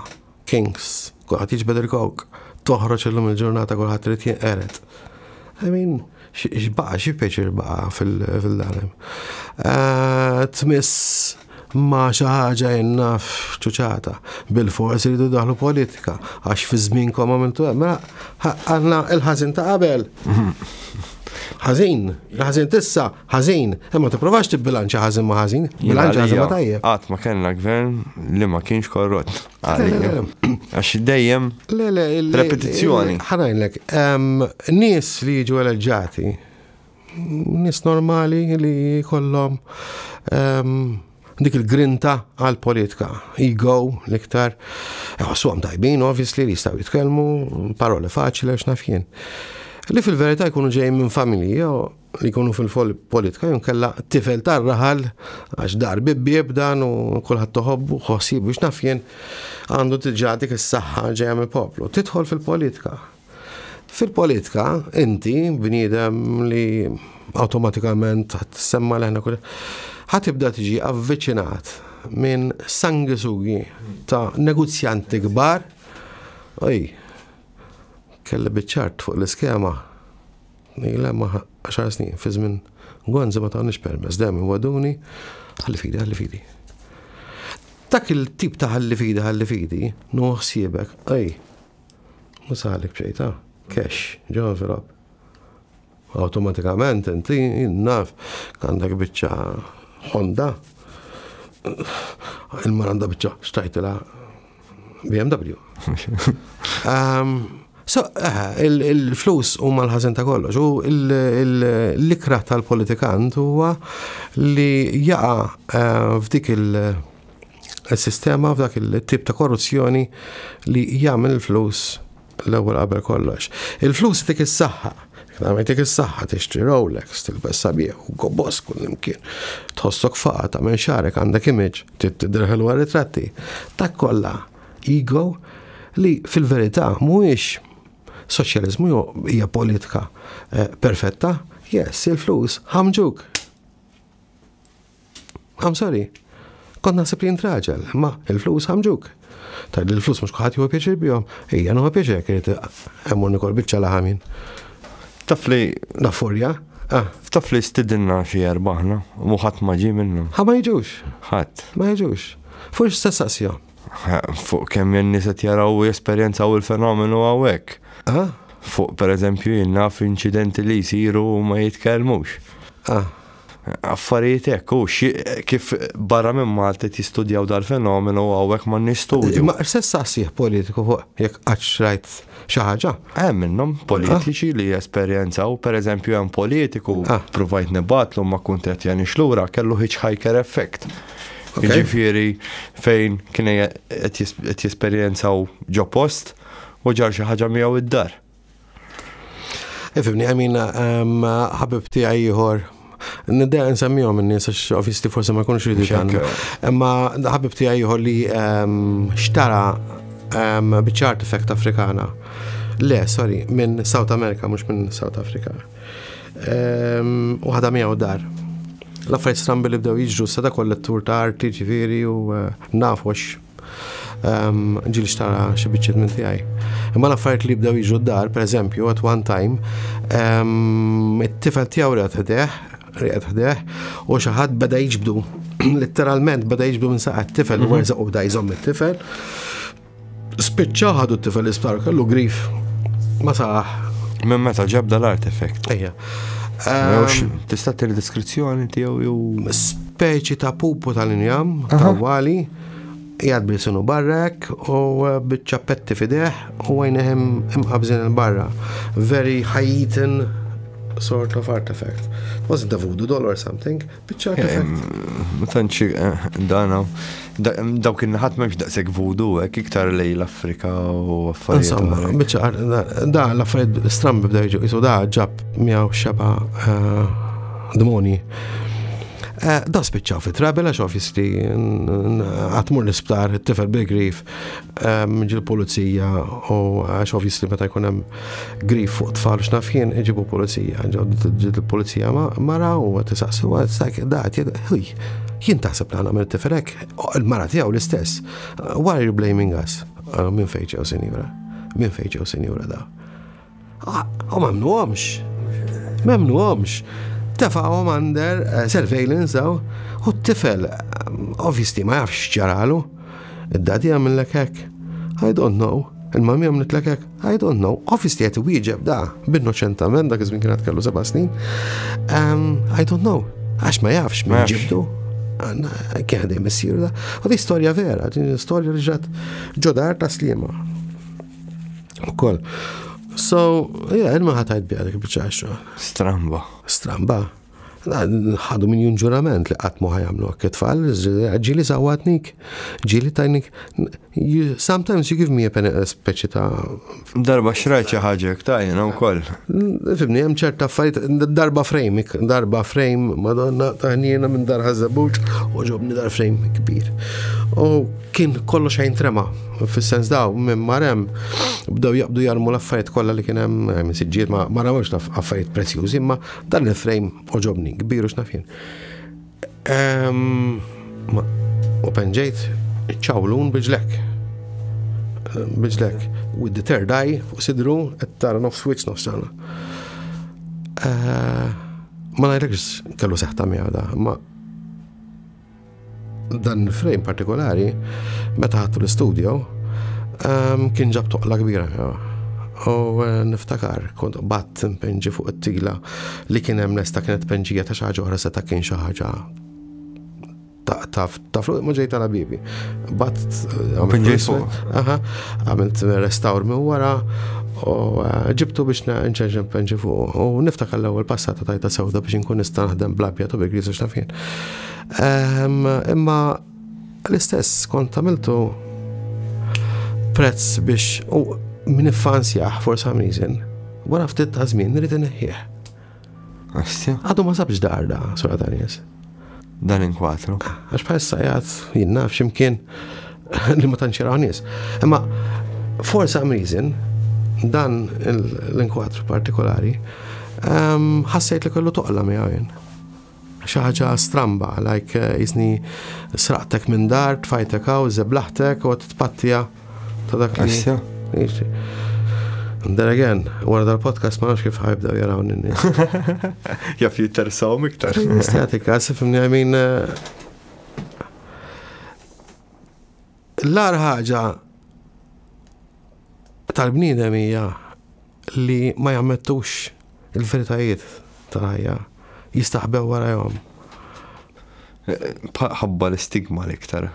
kings, kulħadd jiġbed il-kok, toħroġ illum il-ġurnata kulħadd irid jinqered. I mean, x'baqa, xi pjaċir baqa fil-danem. Eh, Tmiss ma xi ħaġa jenna f'ċuċata. Bil-fors iridu daħlu politika, għax fi żmienkom għamiltu hekk. Mela għandna il-ħażin ta' qabel. Ħażin, il-ħażin tissa, ħażin. Imma tipprovax tibbilanċa ħażin ma' ħażin, bilanċa ħażin ma' tajjeb. Qatt ma kellna gvern li ma kienx korrott. Għalija. Għax dejjem Le, le, il- Repetizzjoni. Ħa ngħidlek, em, nies li jiġu eleġġati, nies normali li kollhom em, dik il-grinta għal-politika, ego l-iktar, għom tajbin, obviously, li jistgħu jitkellmu, paroli faċli, għax naf jien. Li fil-verità jkunu ġejjin minn familji jew li jkunu fil-politika jew kella tifel tar-raħal għax dar bibbieb dan u kulħadd toħobbu ħossib biex naf jien għandu diġà dik is-saħħa ġejja mill-poplu. Tidħol fil-politika. Fil-politika inti bniedem li awtomatikament semma leħna kull ħa tibda tiġi avviċinat minn sangisugi ta' negozjanti kbar. Oj, kelli biċ-ċart fuq l-iskema. Ila ma għaxar snin, fi żmien Gonzi ma tawniex permess, dejjem waduni, ħalli fidi, ħalli fidi. Dak il-tip ta' ħalli fidi, ħalli fidi, nuħsibek, ej, musalik bxejta, cash, ġo envelope. Automatikament inti naf għandek biċċa Honda, il-mara għandha biċċa xtajtila B M W. Um, so, eh, il- il-flus huma l-ħażin ta' kollox. U il- il- l-ikrah tal-politikant huwa li jaqa' eh, f'dik il- il-sistema, f'dak il-tip ta' korruzzjoni li jagħmel il-flus l-ewwel qabel kollox. Il-flus tik is-saħħa. Għamil is-saħħa tixtri Rolex, tilbes sabiħ u gobos kull imkien. Tħossok faqa, tagħmel xagħrek, għandek image, tidher ħelwa ritratti. Dak kollha ego li fil-verità mhuwiex soċjaliżmu jew hija politika eh, perfetta. Yes, il-flus ħamġuk. I'm sorry. Kont naħseb li raġel, ma il-flus ħamġuk. Taj il-flus mhux kulħadd jieħu pjaċir bihom. Ejja, nieħu pjaċir kiet hemm nikol biċċa laħamin. Taf li Nafurja. Ah, taf li stidinna xi erbaħna u ħadd ma ġie minnhom. ħa ma jiġux, Ħadd. Ma jiġux. Fuq x'tistaqsihom. Fuq kemm in-nies qed jaraw u jesperjenzaw il-fenomenu hawnhekk. Ah, Fuq pereżempju jien naf inċidenti li jsiru u ma jitkellmux. ah. Affarijiet hekk u xi- kif barra minn Malta qed jistudjaw dal-fenomenu u hawnhekk ma nistudju. Ma x'tistaqsih politiku fuq jekk qatt rajt xi ħaġa? Hemm minnhom politiċi li jesperjenzaw, pereżempju hemm politiku Ah. provajt nibgħatlu ma kuntattjanix lura kellu hitchhiker effect. Ok. Jiġifieri fejn kien qed jes- qed jesperjenzaw ġo post u ġar xi ħaġa miegħu id-dar. Ifhimni, I mean, um, ħabib tiegħi ieħor, Niddeja nsemmihom in-nies għax obviously forsi ma jkunux jridu Mhux hekk. jgħannu. Imma ħabib tiegħi ieħor li um, xtara um, biċċa artifact Afrikana Le, sorry, minn South America, mhux minn South Africa. U ħadha miegħu dar. L-affarijiet strambi li bdew jiġru sa da kollettur ta' arti, ġifieri, u eh, nafu għax ġieli xtara xi biċċiet minn tiegħi. Imma l-affarijiet li bdew jiġru d-dar, per eżempju, at one time, it-tifel tiegħu rieqed ħdejh, rieqed ħdejh, u xi ħadd beda jiġbdu, letteralment beda jiġbdu minn saqajh it-tifel, u werżaq u bda jżomm it-tifel. Spiċċa ħadu t-tifel l-isptar, kellu grif. Ma saħ. Minn meta ġabda l-artifact. Ejja. Tista' tagħti deskrizzjoni tiegħu jew Speċi ta' pupu tal-injam, ta' wali, jgħad bil-sinu barrek u b'ċappetti f'idejh u għajnejh imqabżin il-barra. Very Haitian sort of artifact. Wasn't a voodoo doll or something, biċċa artifact. Ma tantx eh, dana. Dawk in-naħat m'hemmx daqshekk voodoo, hekk iktar lejn l-Afrika u affarijiet. Insomma, biċċa da l-affarijiet strambi bdew jiġu, jisu da ġab miegħu xeba eh, demoni. Eh, da spiċċaw fi trouble għax obviously għatmur l-isptar, it-tifel bil-grif, ġie l-pulizija u għax obviously meta jkun hemm grif fuq tfal x'naf jien iġibu pulizija, ġiet il-pulizija mara u tisaqsu da ħuj, jien taħseb li għamel it-tifel hekk, il-mara tiegħu l-istess. Why are you blaming us? Minn fejn ġew, sinjura? Minn fejn ġew, sinjura, da? U ma mmnuhomx. Ma mmnuhomx. Tefgħuhom under eh, surveillance daw u t-tifel obviously ma jafx ġaralu. Id-daddy għamillek hekk. I don't know. Il-mami għamlitlek hekk. I don't know. Obviously qed wieġeb da b'innoċentament, dak iż-żmien kienet kellu seba' snin. Um, I don't know. Għax ma jafx minn ġibdu. Kien għadej missieru da. U di storja vera, din storja li ġrat ġo dar ta' Sliema. Ukoll. So, yeah, il ma ħatajt bija dik biċċa. Stramba. Stramba. Ħadu minn ġurament li qatt mhu ħa jagħmlu hekk it-tfal, ġieli sawatnik, ġieli tajnik. Sometimes you give me a speċi ta' Darba xrajt xi ħaġa ta' jiena wkoll. Fhimni, hemm ċerta affarijiet, darba frame, darba frame, madonna taħnina minn dar Ħaż-Żebbuġ, u ġobni dar frame kbir. U kien kollox xejn trema, fis-sens daw minn marem bdew jaqbdu jarmu l-affarijiet kollha li kien hemm minn siġġiet, ma ma rawx affarijiet prezzjużi, imma dan il-frame oġobni, kbir u x'naf jien. U penġejt ċawlun biġlek. Biġlek. With the third eye fuq sidru, qed tara nofs wiċċ nofs ġana. Ma ngħidlekx kellu seħta miegħu da, ma dan il-frame partikolari, meta ħadtu l-studio, kien ġab toqla kbira. U eh, niftakar, kont bat npenġi fuq it-tila li kien hemm lesta, kienet penġija ta' xi ħaġa oħra, seta' kien xi ħaġa ta' ta' fluq ma ġejt għala bibi. Bat eh, għamilt restawr minn wara u eh, ġibtu biex nċenġen penġi fuq. U niftakar l-ewwel passata tajta sewda biex nkun nista' naħdem bl-abjad u bil-griż u x'naf jien. Imma l-istess kont għamiltu prezz biex u min iffansjah for some reason, wara ftit ta' żmien nrid inneħħih. Għadu ma sabx dar da, sura ta' nies. Dan inkwatru. Għax bħalissa jgħat jien naf x'imkien li ma tantx jaraw nies. Imma for some reason dan l-inkwatru partikolari ħassejt li kellu toqla miegħu jien. Xi ħaġa stramba, like jisni sraqtek minn dar, tfajtek hawn, żeblaħtek u tpattija ta' dak li. And then again, wara dal-podcast ma nafx kif ħa jibdew jaraw n-nies. Jaf jinteressawhom iktar. Statika, fhimni, I mean, eh, l-agħar ħaġa tal-bniedem hija li ma jammettux il-veritajiet tal-ħajja, jistaħbew warajhom. Ħabba l-istigma l-iktar.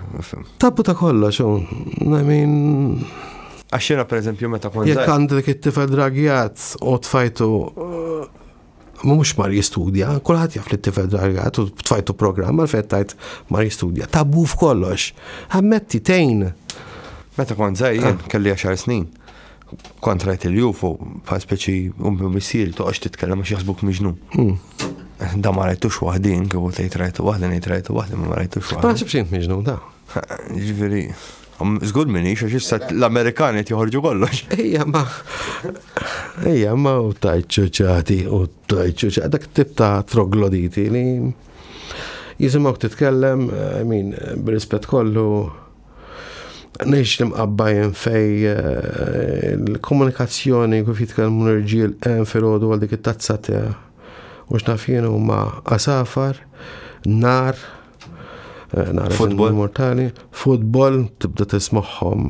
Tabu ta' kollox, I mean. Għax jiena per eżempju meta kont. Jekk għandek it-tifel dragjat u tfajtu ma mhux mar jistudja, kulħadd jaf li t-tifel dragjat u tfajtu programm għal tajt mar jistudja. Tabu f'kollox. Ammetti tejn. Meta kont żgħir jien kelli għaxar snin. Kont rajt il-U F O bħal speċi ummi missieri toqgħodx titkellem għax jaħsbuk miġnun. Hmm. Da ma rajtux waħdin, kieku tgħid rajtu waħdi, ngħid rajtu waħdi, ma rajtux Ma waħdi. naħsibx int miġnun da. Ġifieri. Żgur minix, għax issa l-Amerikani qed joħorġu kollox. Ejja, ma. Ejja, ma u tajt ċuċati u tajt ċuċati. Dak tip ta' trogloditi li jisimgħuk titkellem, I mean, b'rispett kollu, ngħix l-Imqabba jien fej eh, l-komunikazzjoni kif jitkellmu l-irġiel hemm filgħodu għal dik it-tazza ta' u x'naf jien huma għasafar, nar, eh, nar Futbol. Mortali, futbol, tibda tismagħhom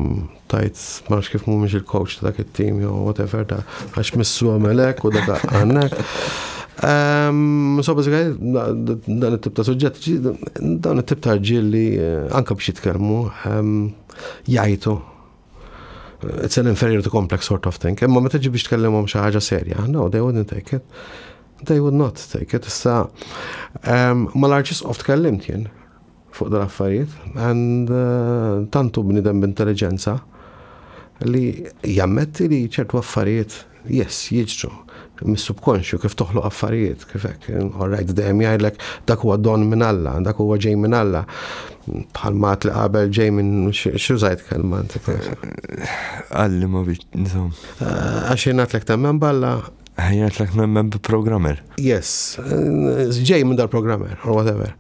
tajt ma nafx kif mhumiex il-coach ta' dak it-team jew whatever ta' għax missu għamelek u dak għannek. Um, so basically, dan it-tip ta' suġġett, dan it-tip ta' rġiel li eh, anka biex jitkellmu um, jgħajtu. It's an inferiority complex sort of thing. Imma meta ġi biex tkellimhom xi ħaġa serja, no, they wouldn't take it. They would not take it. Issa, um, mal-Arċisqof tkellimt jien fuq dal-affarijiet, and uh, tantu bnidem b'intelligenza li jammetti li ċertu affarijiet, yes, jiġru mis-subkonxju kif toħloq affarijiet, kif hekk, all right, dejjem jgħidlek dak huwa don minn Alla, dak huwa ġej minn Alla. Bħal mat li qabel ġej minn x'użajt kelma inti. Għalli ma biex, insomma. Għax jien temmen b'Alla, Ħajjatlek nemmen bi-programmer. Yes, ġej minn dal-programmer, or whatever.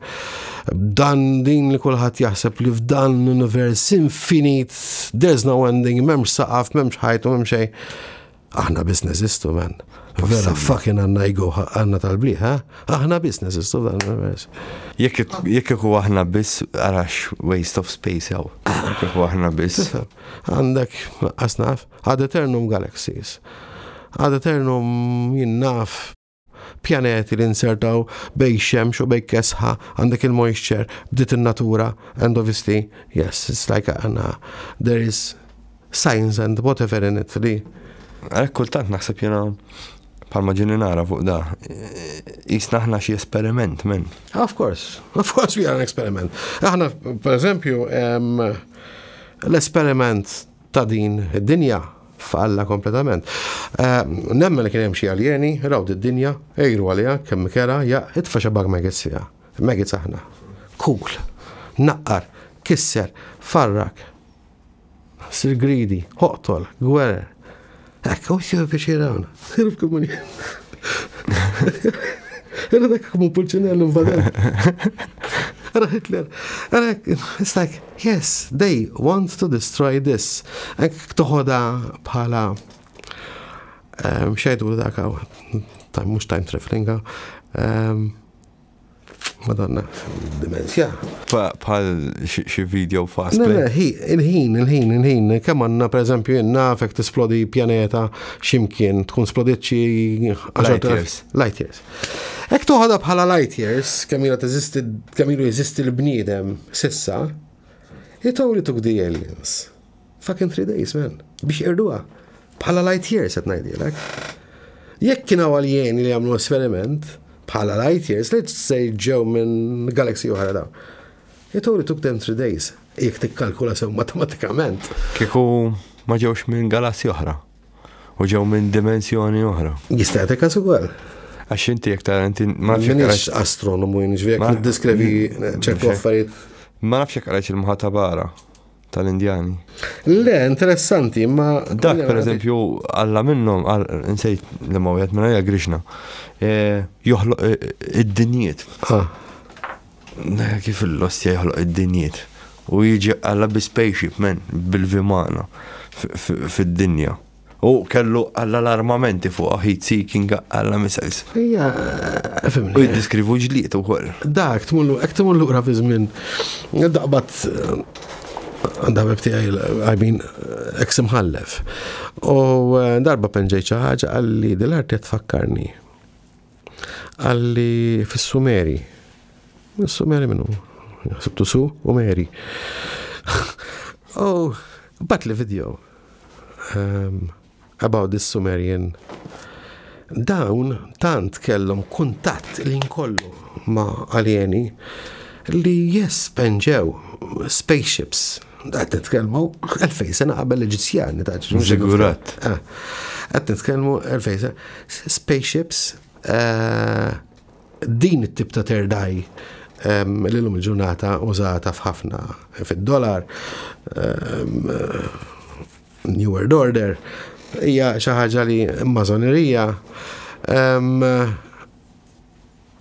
Dan din li kulħadd jaħseb li f'dan l-univers infinit, there's no ending, m'hemmx saqaf, m'hemmx ħajtu, m'hemmx xejn. Aħna biss neżistu, man. Vera fucking għandna ego għandna tal-bliħ, ha? Aħna biss neżistu f'dan l-univers. Jekk jekk iku aħna biss arax waste of space jew. Jekk iku aħna biss. Tifhem, għandek, asnaf, ad eternum galaxies. Ad eternum jien naf pjaneti li insertaw bejn xemx u bejn kesħa, għandek il-moisture, bdiet il-natura, and obviously, yes, it's like għandna, there is science and whatever in it li Għalhekk kultant naħseb jena bħalma ġini nara fuq da. Jisna aħna xi esperiment, men. Of course, of course we are an experiment. Aħna, per eżempju, em, l-esperiment ta' din id-dinja falla kompletament. Eh, Nemmen li kien hemm xi aljeni, raw id-dinja, ejru għaliha, kemm kera, ja, itfa' xabag maggots fiha. Maggots aħna. Cool. Naqqar, kisser, farrak. Sir greedy, oqtol, gwerer. Ekk, u xie biex jirawna. Sirf komuni. Era dak come Pulcinello invadel. Era Hitler. Era, it's like, yes, they want to destroy this. Ek toħoda bħala xejdu dak time, mux time traveling, um, Madonna, dimensja. Bħal xi video fast Le, le, play. hi, il-ħin, il-ħin, il-ħin, kemm għandna per eżempju nafek tisplodi pjaneta ximkien, tkun splodiet xi Light years. Light years. Ek toħodha bħala light years, kemm ilha teżisti, kemm ilu jeżisti l-bniedem sissa, it only took the aliens. Fucking three days, man. Biex irduha. Bħala light years qed ngħidilek. Jekk kien hawn aljeni li għamlu esperiment, bħala light years, let's say ġew minn galaxy oħra daw. It only took them three days. Jekk tikkalkula sew matematikament. Kieku ma ġewx minn galassi oħra. U ġew minn dimensjoni oħra. Jista' jagħtik każ ukoll. Għax inti jekk tara inti ma nafx jekk Minix qrajt- astronomu jien ġifieri Ma- niddiskrevi ċertu affarijiet. ma nafx jekk qrajt il-Mahabharata tal-Indjani. Le, interessanti, ma. Dak per eżempju Alla minnhom insejt li ma wieħed minn hija Krishna. Eh, Joħloq eh, id-dinjiet. Ah, Kif il-lostja joħloq id-dinjiet. U jiġi Alla bi spaceship men bil-vimana f- f- fid-dinja. U kellu Alla l-armamenti fuq heat seeking Alla missiles. Ija, U fimni. jiddiskrivu ġliet ukoll. Dak, tmullu, ek tmullu lura fi żmien. Daqbat għandha tiegħi, I mean, ex imħallef. U eh, darba penġejt xi ħaġa qalli dil-arti tfakkarni. Qalli fis-Sumeri. Is-Sumeri minnu? Sibtu su u Meri. Oh, bagħatli video um, about this Sumerian dawn tant kellhom kuntatt li nkollu ma' alieni li yes penġew spaceships. Qed nitkellmu elfej sena qabel l-Eġizzjani ta' Zigurat. Ah, Qed nitkellmu elfej sena. Spaceships eh, din it-tip ta' third eye L-lum il-ġurnata użata f'ħafna fid-dollar, New World Order, hija xi ħaġa li mażonerija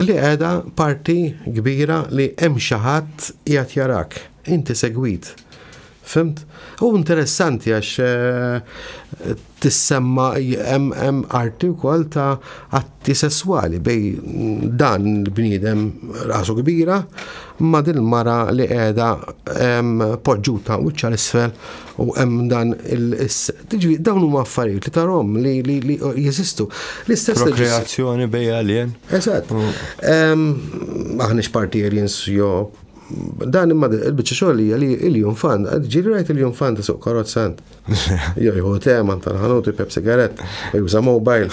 li qiegħda parti kbira li hemm xi ħadd qiegħed jarak, inti segwit. Fhimt? U interessanti għax eh, tissemma hemm arti wkoll ta' atti sessuali bejn dan il-bniedem rasu kbira ma' din mara li qiegħda poġġuta wiċċha 'l isfel u hemm dan il Tiġi dawn huma affarijiet li tarahom li li jeżistu. L-istess prokreazzjoni bejn alien. Eżatt. Aħniex parti aliens jo dan, imma il-biċċa xogħol hija li il-Jumfant, ġieli rajt il-Jumfant suq karozza int? Jo jieħu tema tal-ħanut, ipejjep sigarett, juża mobile.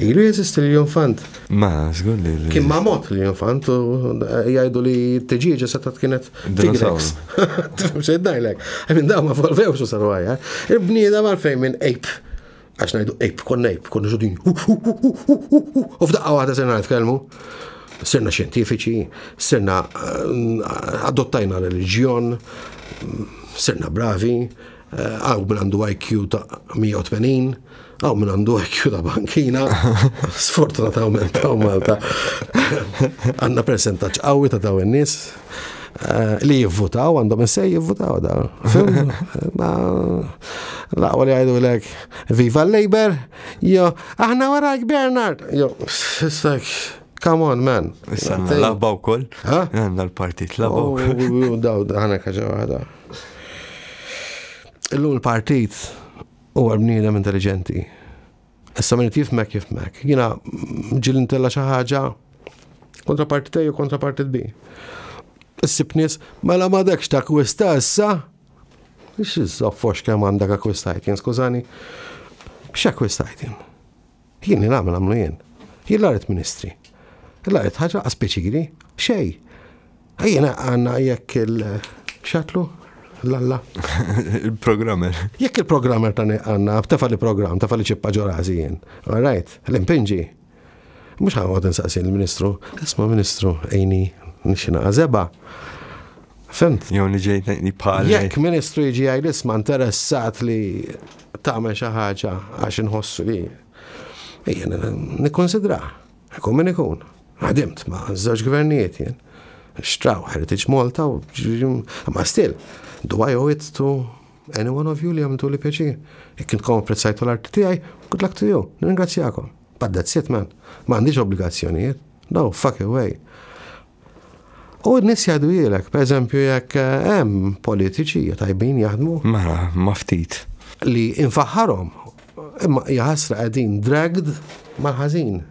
Ilu jeżisti l-Jumfant. Ma, żgur li. Kien ma mot l-Jumfant u jgħidu li t-tiġieġa setat kienet T-Rex. Tifhem xejn ngħidlek? I mean, dawn ma evolvewx u saru għajja. Il-bniedem għalfejn minn ape, għax ngħidu ape, konna ape, konna ġudin. U f'daqqa waħda sirna nitkellmu, sirna xjentifiċi, sirna eh, adottajna reliġjon, sirna bravi, eh, hawn min għandu I Q ta' mija u tmenin, hawn min għandu I Q ta' bankina, sfortunatament ta' Malta. Għandna percentaġġ qawwi ta' daw in-nies eh, li jivvutaw, għandhom sej jivvutaw da. Ma l-aqwa li jgħidu lek, "Viva l-Labour", jo, "Aħna warajk, Bernard", jo, it's like, come on, man. Issa Labour wkoll. Għandna l-partit Labour. Oh, daw, ħana kaġa waħda. Illum il-partit huwa bniedem intelligenti. Issa min jifhmek jifhmek. Jiena ġieli ntella' xi ħaġa kontra partit A u kontra partit B. Issib nies, "Mela m'għadekx takkwista issa?" X'izzofox kemm għandek akkwistajt jien, skużani. X'akkwistajt jien? Jien li nagħmel għamlu jien. Jien la ministri. La ħaġa speċiri, xej. Jiena għandna jekk il-xatlu, l-alla. Il-programmer. Jekk il-programmer ta' għandna, tefa li program, tefa li ċippa ġo rasi jien. All right, l-impinġi. Mhux ħa noqgħod nsaqsi l-ministru, "Isma', ministru, għinni nixxina għazeba." Fhimt? Jew niġejt bħal. Jekk ministru jiġi għaj, "Isma', interessat li tagħmel xi ħaġa għax inħossu li." Ejja, nikkonsidra. Ikun min ikun. Ħadimt ma' żewġ gvernijiet jien. Xtraw Heritage Malta u ma still. Do I owe it to any one of you li għamiltu li pjaċir? Jekk intkom apprezzajtu l-arti tiegħi, good luck to you. Nirringrazzjakom. But that's it, man. Ma għandix obbligazzjonijiet. No, fuck away. U n-nies jgħidu jilek, per eżempju, jekk hemm politiċi tajbin jaħdmu. Ma, ma ftit. Li infaħħarhom, imma jaħasra qegħdin dragged mal-ħażin.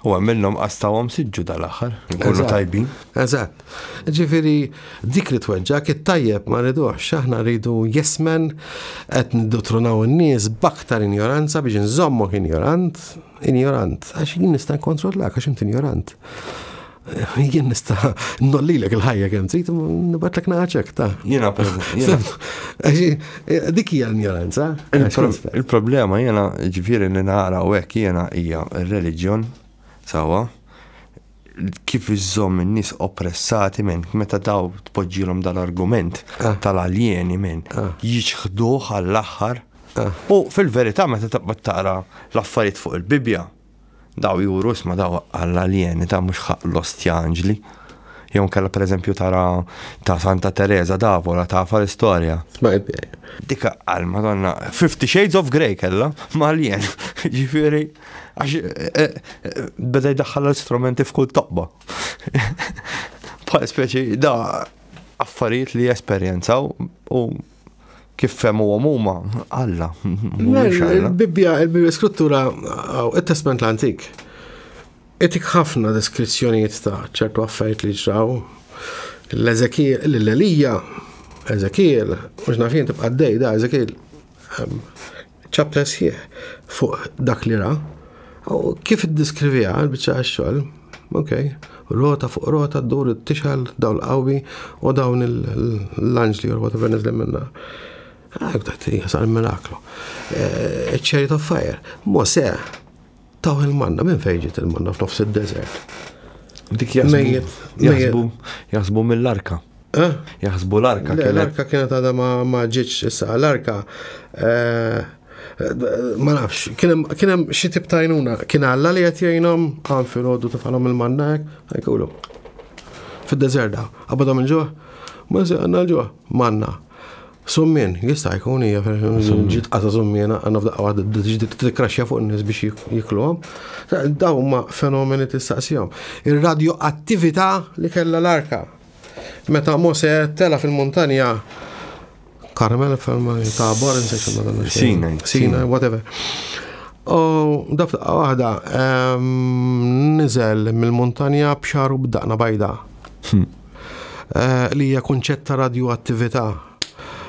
U minnhom qastawhom siġġu dal-aħħar, nkunu tajbin. Eżatt. Ġifieri dik li tweġġak, it-tajjeb ma rridux, aħna rridu yes men, qed nidotrunaw in-nies b'aktar injoranza biex nżommok injorant, injorant, għax jien nista' nkontrollak għax inti injorant. Jien nista' nollilek il-ħajja kemm trid, nibgħatlek naċek ta' Jiena dik hija l-injoranza. Il-problema jiena ġifieri li nara u hekk jiena hija r-reliġjon sawa kif iżżomm in-nies oppressati minn meta daw tpoġġilhom dal-argument ah. tal-aljeni minn ah. jiċħduh għall-aħħar. Ah. U fil-verità meta taqbad taqra l-affarijiet fuq il-Bibja, daw juru isma' daw għall-aljeni ta' mhux ħaq l-ostja anġli. Jew kella per eżempju tara ta' Santa Teresa d'Avola, tafa l-istorja. Dika għal Madonna, Fifty Shades of Grey kella, ma' alien. Ġifieri, għax eh, eh, beda jdaħħal l-istrumenti f'kull toqba. Bħal speċi da affarijiet li esperjenzaw u kif fehmu huma Alla. Il-Bibbja, il-Bibbja Skrittura, il-Testament l-Antik, itik ħafna deskrizzjonijiet ta' ċertu affarijiet li ġraw. L-Ezekiel, l-Elija, Ezekiel, mhux naf jien tibqa' dej da Ezekiel, chapter sħiħ fuq dak li ra. U kif iddiskrivija l-biċċa xogħol, ok, rota fuq rota ddur tixgħel dawl qawwi u dawn l-anġli or whatever niżlin minna. Ah, sar miraklu. Eh, Chariot of Fire. Mosè, taw il-manna, minn fejn ġiet il-manna f'nofs id-desert? Dik jaħsbu jaħsbu mill-arka. Eh? Jaħsbu l-arka. L-arka kienet għadha ma ġietx issa, l-arka eh, ma nafx, kien hemm xi tip ta' għajnuna, kien Alla li qed jgħinhom għan filgħodu tefgħalhom il-manna hekk, ħajkulu. Fid-deżert, qabadhom il-ġuħ, ma se għandna l-ġuħ, manna. Summien, jista' jkun hija ġiet qata summiena għandna f'daqqa waħda ġiet tikkraxxja fuq in-nies biex jikluhom. Dawn huma fenomeni tistaqsihom. Ir-radioattività li kellha l-arka. Meta Mose tela fil-muntanja Karmel, Tabor, Sinai. Sinai, whatever. U daqqa waħda niżel mill-muntanja b'xagħru b'daqna bajda. Hmm. Eh, li hija kunċett ta' radioattività.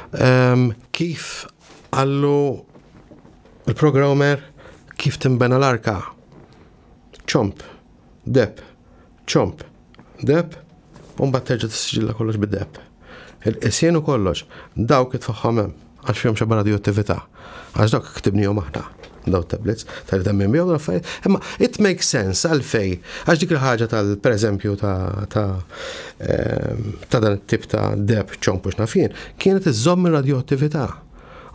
Kif għallu il-programmer kif timbena l-arka? Ċomp, deheb, ċomp, deheb, u mbagħad terġa' tissiġilla kollox bid-deheb. Il-qisien u kollox, dawk itfaħħom hemm għax fihom xeba radioattività. Għax dawk ktibnihom aħna daw tablets, tal temmin bihom l-affarijiet. Imma it makes sense għalfej, għax dik il-ħaġa tal, per eżempju, ta' ta' ehm, ta' dan it-tip ta' deheb ċomp u x'naf jien, kienet iżomm ir-radioattività.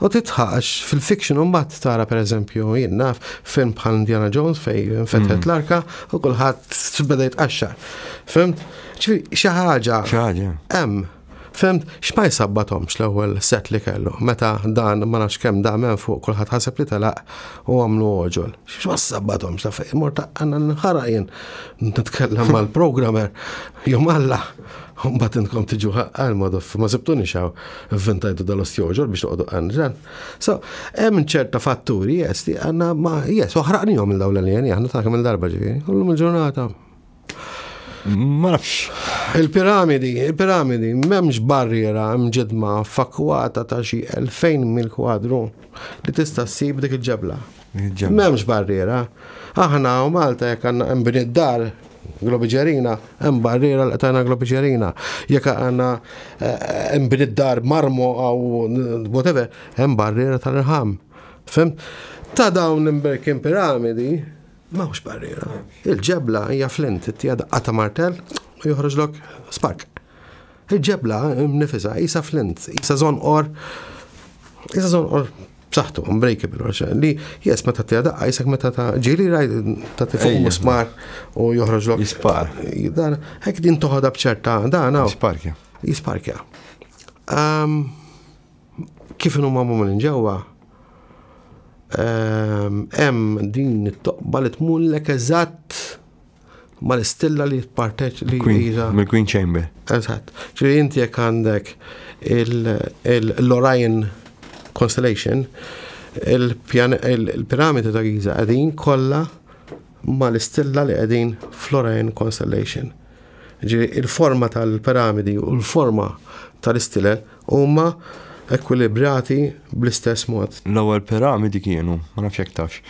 U titħax fil-fiction mbagħad tara per eżempju jien naf film bħal Indiana Jones fej infetħet mm. l-arka u kulħadd beda jitqaxxar. Fhimt? Xi ħaġa. Xi ħaġa. Hemm. Fhimt, x'ma jsabbathomx l-ewwel set li kellu, meta dan ma nafx kemm da minn fuq kulħadd ħaseb li telaq u għamlu għoġol. X'ma sabbathomx ta' fejn mort għandna nħara jien nitkellem mal-programmer jum Alla. Mbagħad intkom tiġu għal madoff, ma sibtuni xaw vvintajtu dal-ostjoġol biex toqgħodu għan. So, hemm ċerta fatturi, yes, li għandna ma, yes, uħraqnihom il dawn l-aljeni, aħna ta' kemm il-darba ġifieri, kullum il-ġurnata. Ma nafx. Il-piramidi, il-piramidi, m'hemmx barriera mġedma fakwata ta' xi elfejn mil kwadru li tista' ssib dik il-ġebla. M'hemmx barriera. Aħna u Malta jekk għandna hemm bini dar globiġerina, hemm barriera li qtajna globiġerina. Jekk għandna hemm bini dar marmo aw whatever, hemm barriera tal-irħam. Fhimt? Ta' dawn l-imberkin piramidi, m'hawnx barriera. Il-ġebla hija flint, ttiha daqqa ta' martell u joħroġlok spark. Il-ġebla nifisha isa flint, isa żonqor, isa żonqor b'saħħtu, unbreakable, li jes meta ttiha daqqa, jisek meta ta' ġili raj ta' fuq musmar u joħroġlok. Jispar. Dan, hekk din toħodha bċerta, dan Jisparkja. Jisparkja. Kif inhu magħmul minn ġewwa, hemm din it-toqba li tmullek eżatt mal-istilla li parteċ li Mill-Queen Chamber. Eżatt. Ġifieri inti jekk għandek l-Orion Constellation, il-piramidi ta' Giza qegħdin kollha mal-istilla li qegħdin fl-Orion Constellation. Ġifieri il-forma tal-piramidi u l-forma tal-istilel huma ekwilibrati bl-istess mod. L-ewwel piramidi kienu, ma nafx jekk tafx,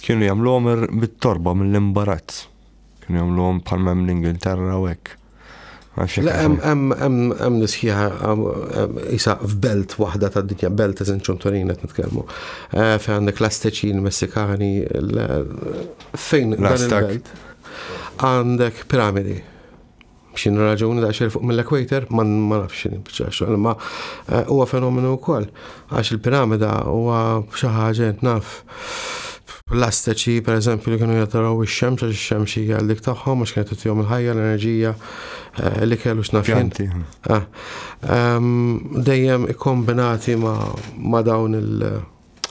kienu jagħmluhom bit-torba mill-imbarazz. Kienu jagħmluhom bħal hemm l-Ingilterra u hekk. Le, hemm hemm nisħiħa isa f'belt waħda tad-dinja, belt eżin ċunturin qed nitkellmu. Eh, fejn għandek l-Azteċi, l-Messikani, fejn dan il-belt. Għandek piramidi. X'inhu raġuni da fuq mill-equator, ma nafx x'inhi biċċa ma eh, huwa fenomenu wkoll għax il-piramida huwa xi ħaġa naf l-Azteċi, per eżempju, li kienu jataraw ix-xemx, għax ix-xemx hija dik tagħhom, għax kienet tagħtihom il-ħajja, l-enerġija eh, li kellu x'naf jien. Ah, dejjem ikkombinati ma' dawn il-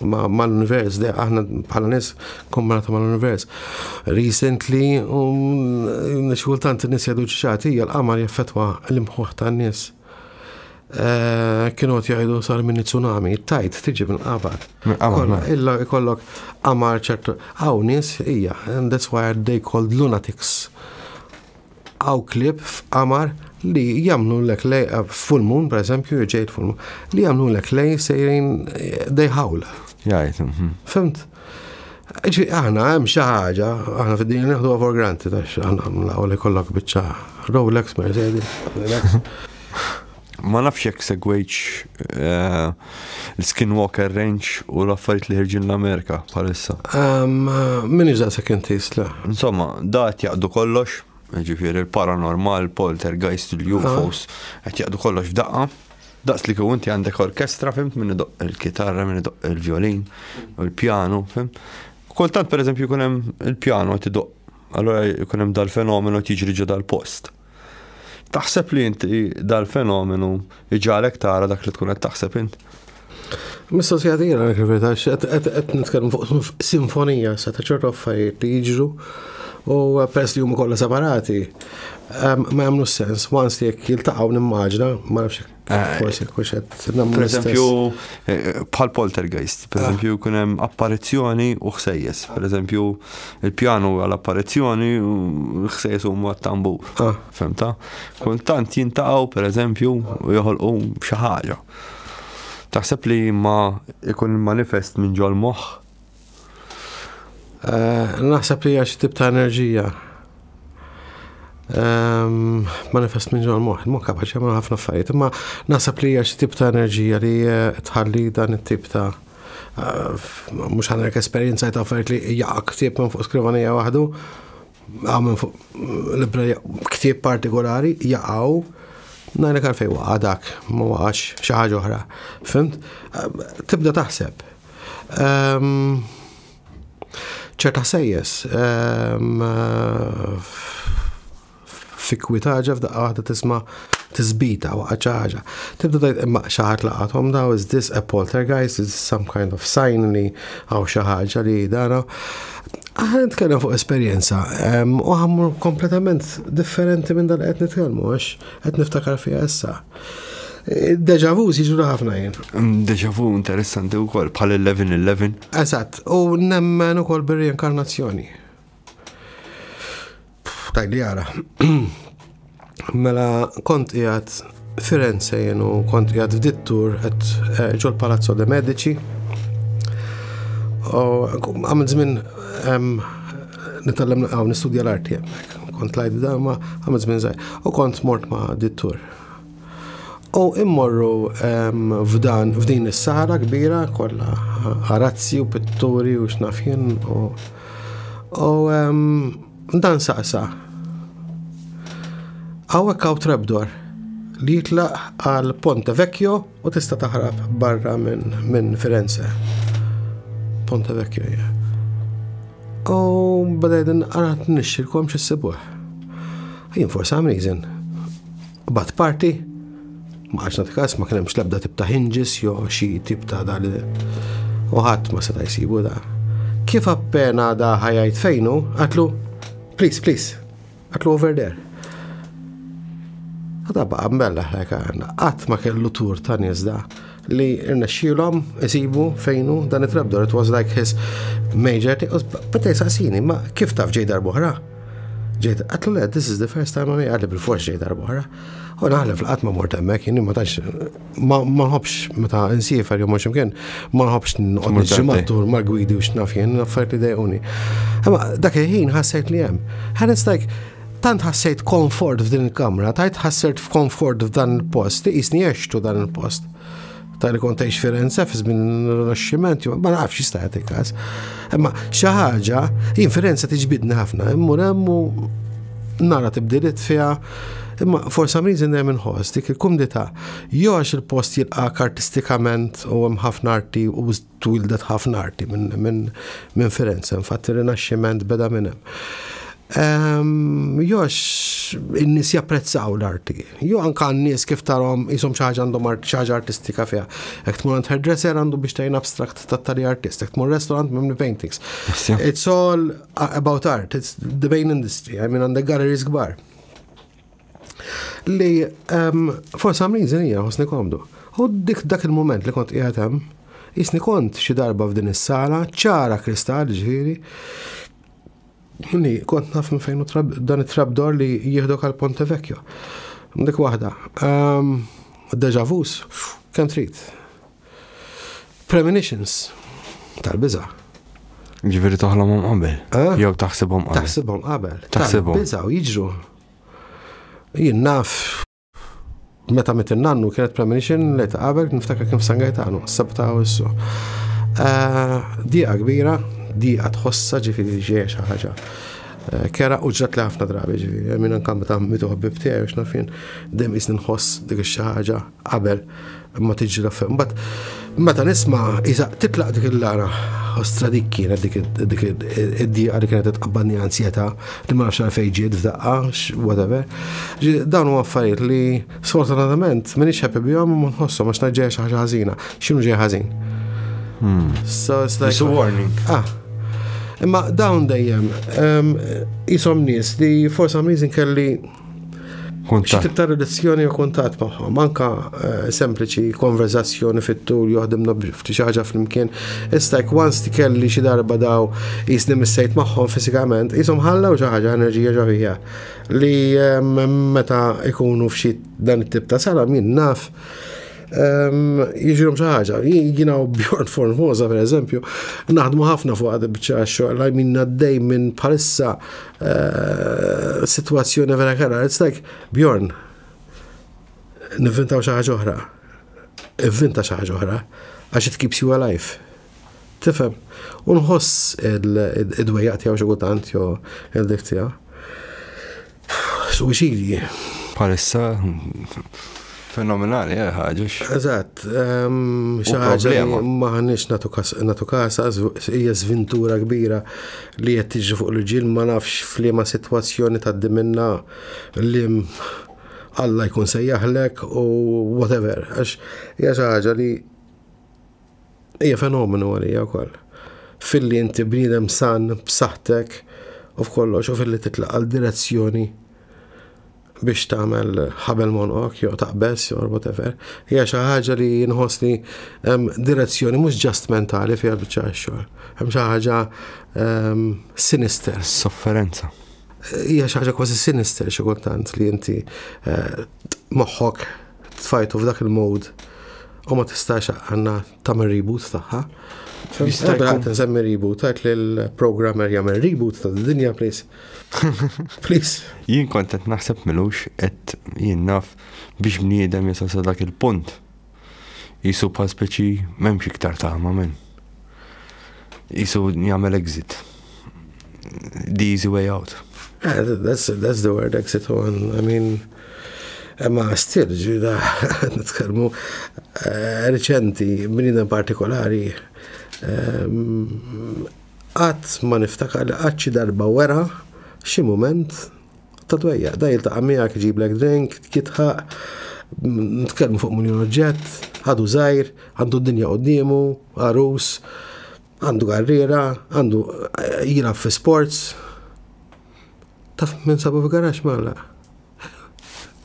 ma' l-univers, aħna bħala nies kombinati ma' l-univers. Recently, um, xi kultant in-nies jgħidu ċaċati, l-qamar jaffetwa l-imħuħ tan-nies. Eh, kienu għat jgħidu sar minn tsunami, tajt tiġi minn qamar. Illa ikollok qamar ċertu, hawn nies, ija, and that's why they called lunatics. Hawn klieb f'qamar li jagħmlu lek lej, full moon, per eżempju, ġejt full moon, li jagħmlu lek lej sejrin they howl. Jgħid. Mhm. Fhimt? Ġi, aħna hemm xi ħaġa, aħna fid-dinja nieħdu for granted, għax aħna l-ewwel ikollok biċċa Rolex, Mercedes, Rolex. Ma nafx jekk segwejtx eh, l-Skinwalker Ranch u l-affarijiet li ħirġin l-Amerika bħalissa. Min iġdaqsek inti la. Insomma, da qed jaqdu kollox. Ġifieri il-paranormal, poltergeist, il-U F Os, qed jaqdu kollox f'daqqa. Daqs li inti għandek orkestra, fhimt, min idoqq il-kitarra, min idoqq il-violin, u il-pjanu, fhimt. Kultant, per eżempju, jkun hemm il-pjanu qed idoqq, allora jkun hemm dal-fenomenu tiġri ġo dal-post. Taħseb li inti dal-fenomenu iġagħlek tara dak li tkun qed taħseb int? Mistoqsija tira, għak il-verità, qed nitkellmu fuq sinfonija sa ta' ċertu affarijiet li jiġru u peress li huma kollha separati, ma jagħmlu sens, once li jekk jiltaqgħu nimmaġna, ma nafx, forsi kux qed nagħmlu Per eżempju, eh, bħal poltergeist, per eżempju, kun hemm apparizzjoni u ħsejjes. Per eżempju, il-pjanu għal apparizzjoni u l-ħsejjes huma tambur. Ah. Fhimta? Kultant jiltaqgħu, per eżempju, u joħolqu xi ħaġa. Taħseb li ma ikun manifest minn ġol moħħ? Eh, Naħseb li hija xi tip ta' enerġija. Ehm, Manifest minn ġol moħħ, il-moħħ kapaċi jagħmel ħafna affarijiet, imma naħseb li hija xi tip ta' enerġija li eh, tħalli dan it-tip ta' eh, mhux ħa ngħidlek esperjenza ta' affarijiet li jaqa' ktieb minn fuq skrivanija waħdu, għaw minn fuq libra ktieb partikolari jaqgħu, ngħidlek għalfejn waqa' dak, ma waqax xi ħaġa oħra. Fhimt? Eh, Tibda taħseb. Ehm, ċerta ħsejjes ehm, fi kwitaġa f'daqqa waħda tisma' tisbita waqgħet xi ħaġa. Tibda tgħid, imma xi ħadd laqathom daw, is this a poltergeist, is this some kind of sign li hawn xi ħaġa li dana. Aħna nitkellem fuq esperjenza em, u ħa mmur kompletament differenti minn dal qed nitkellmu għax qed niftakar fiha issa. Deja vu jiġu ħafna jien. Mm, Deja vu interessanti wkoll bħal eleven eleven. Eżatt, u nemmen ukoll bir-reinkarnazzjoni. Tajli jara. Mela kont qiegħed Firenze jien u kont qiegħed f'dit-tour qed eh, ġol Palazzo de Medici. U għamilt żmien em, nitgħallem għaw nistudja l-arti hemmhekk. Kont lajt da ma għamilt żmien żgħir. U kont mort ma' dit-tour. U immorru em, f'dan f'din is-sala kbira kollha arazzi u pitturi u x'naf jien u u em, dan saqsa. Hawnhekk hawn trapdoor li jitlaq għal Ponte Vecchio u tista' taħrab barra minn min Firenze. Ponte Vecchio, ja. U bdejt nqarat nixxilkom x'issibuh. Jien for some reason. Bat parti, ma għax nagħti kas, ma kien hemmx l-ebda tip ta' hinges jew xi tip ta' dal u ħadd ma seta' jsibu da. Kif appena da ħa jgħid fejnu, għedtlu, "Please, please," għedtlu, "over there." Għada baqa mbella qatt ma kellu tour ta' nies da li rnexxielhom isibu fejnu dan it-trapdoor. It was like his major thing. Bada jsaqsini, ma kif taf, ġej darb'oħra? Ġejt, għedtlu le, this is the first time għami, għalli bil-fors ġej darb'oħra. U naħlef l-qatt ma mort hemmhekk, jien ma tantx ma nħobbx meta nsiefer jew mhux imkien, ma nħobbx noqgħod niġri mat-tour mal-gwidi u x'naf jien, affarijiet li dejquni. Imma dak il-ħin ħassejt li hemm. And it's like, tant ħassejt komfort f'din il-kamra, tant ħassejt f'komfort f'dan il-post, qisni għextu dan il-post. Ta' li kont għex Firenze fi żmien Rinaxximent, ma nafx jista' jagħti każ. Imma xi ħaġa, jien Firenze tiġbidni ħafna, immur hemm u nara tibdiliet fiha, imma for some reason dejjem inħoss dik il-kumdità. Jew għax il-post jilqak artistikament u hemm ħafna arti u twildet ħafna arti minn min, min Firenze, infatti ir-Rinaxximent beda minn hemm. Jew għax in-nies japprezzaw l-arti. Jew anka n-nies kif tarahom jisom xi ħaġa għandhom xi ħaġa artistika fiha. Jekk tmur għand hairdresser għandu biex tajn abstract ta' tali artist, jekk tmur restaurant mimli paintings. It's all about art, it's the main industry, I mean, għandek galleries kbar. Li um, for some reason hija ħossni komdu. U dik dak il-moment li kont qiegħed hemm, qisni kont xi darba f'din is-sala, ċara kristall ġifieri, li kont naf minn fejn dan it-trapdoor li jieħdok għal Ponte Vecchio. Dik waħda. Um, deja vus, kemm trid. Premonitions, tal-biża. Ġifieri toħlomhom qabel. Eh? Jew taħsibhom qabel. Taħsibhom qabel. Taħsibhom. Tal-biża u jiġru. Jien naf meta miet in-nannu kienet premonition li ta' qabel, niftakar kien f'San Gaetano, sabta u issu. Diqa kbira, diqa tħossa, ġifieri ġejja xi ħaġa. eh, kerha u ġrat li ħafna drabi, ġifieri, minn anka meta mietu ħbieb tiegħi u x'naf jien, dejjem qisni nħoss dik xi ħaġa qabel ma tiġi l. Mbagħad meta nisma' isa titlaq dik il-lara, ostra, dik kienet dik dik id-dieqa li kienet tqabbadni, ansjetà li ma nafx għalfejn ġiet f'daqqa, whatever. Dawn huma affarijiet li sfortunatament m'iniex happy bihom u ma nħosshom għax ngħid ġejja xi ħaġa ħażina. X'inhu ġej ħażin? So it's like, it's a warning. Ah. Imma dawn dejjem jisom nies li for some reason kelli xi tip ta' relazzjoni u kuntatt magħhom, anka eh, sempliċi konverzazzjoni fit-tul, joħdimna xi ħaġa flimkien. It's like once ti kelli xi darba daw jisni missejt magħhom fiżikament, jisom ħallaw xi ħaġa, enerġija ġo fija li meta ikunu f'xi dan it-tip ta' sala, min naf, jiġrilhom xi ħaġa. Jiena u Bjorn Formosa, per eżempju, naħdmu ħafna fuq għad biċċa xogħol, minn għaddej minn bħalissa eh, situazzjoni vera kerha. It's like, "Bjorn, nivvintaw xi ħaġa oħra. Ivvinta xi ħaġa oħra, għax it keeps you alive." Tifhem? U nħoss id-dwejjaq tiegħu xi kultant jew il-dik tiegħu. Suwiċidji. Bħalissa fenomenali, eh, ħaġa. Eżatt, xi ħaġa li m'aħniex nagħtu kasha, hija sventura kbira li qed tiġi fuq l-ġil, ma nafx f'liema sitwazzjoni tgħaddi minna, li Alla jkun sejjaħlek u whatever, għax hija xi ħaġa li hija fenomenu għalija wkoll. Filli inti bniedem san b'saħħtek u f'kollox u filli titlaq għal direzzjoni biex tagħmel ħabel m'għonqok jew taqbeż jew whatever. Hija xi ħaġa li nħoss li hemm direzzjoni mhux just mentali fiha biċċa xogħol. Hemm xi ħaġa sinister. Sofferenza. Hija xi ħaġa kważi sinister xi kultant li inti eh, moħħok tfajtu f'dak il-mode u ma tistax għanna tagħmel reboot tagħha. Jista' jkun. Għat nsemmi reboot, għajt li l-programmer jagħmel reboot ta' dinja, please. Please. Jien kont qed naħseb milux qed jien naf biex bniedem jasal sa dak il-punt. Jisu bħal speċi m'hemmx iktar tama men. Jisu jagħmel exit. The easy way out. Yeah, that's, that's the word, exit one. I mean, imma still, ġida, nitkellmu eh, reċenti, bniedem partikolari, qatt ma niftakar li qatt xi darba wera xi moment ta' dwejja. Da jiltaqa' miegħek, iġiblek drink, jidħaq, nitkellmu fuq miljon oġġett, għadu żgħir, għandu d-dinja quddiemu, għarus, għandu karriera, għandu eh, jilgħab fi sports. Taf minn sabu fi garax malla.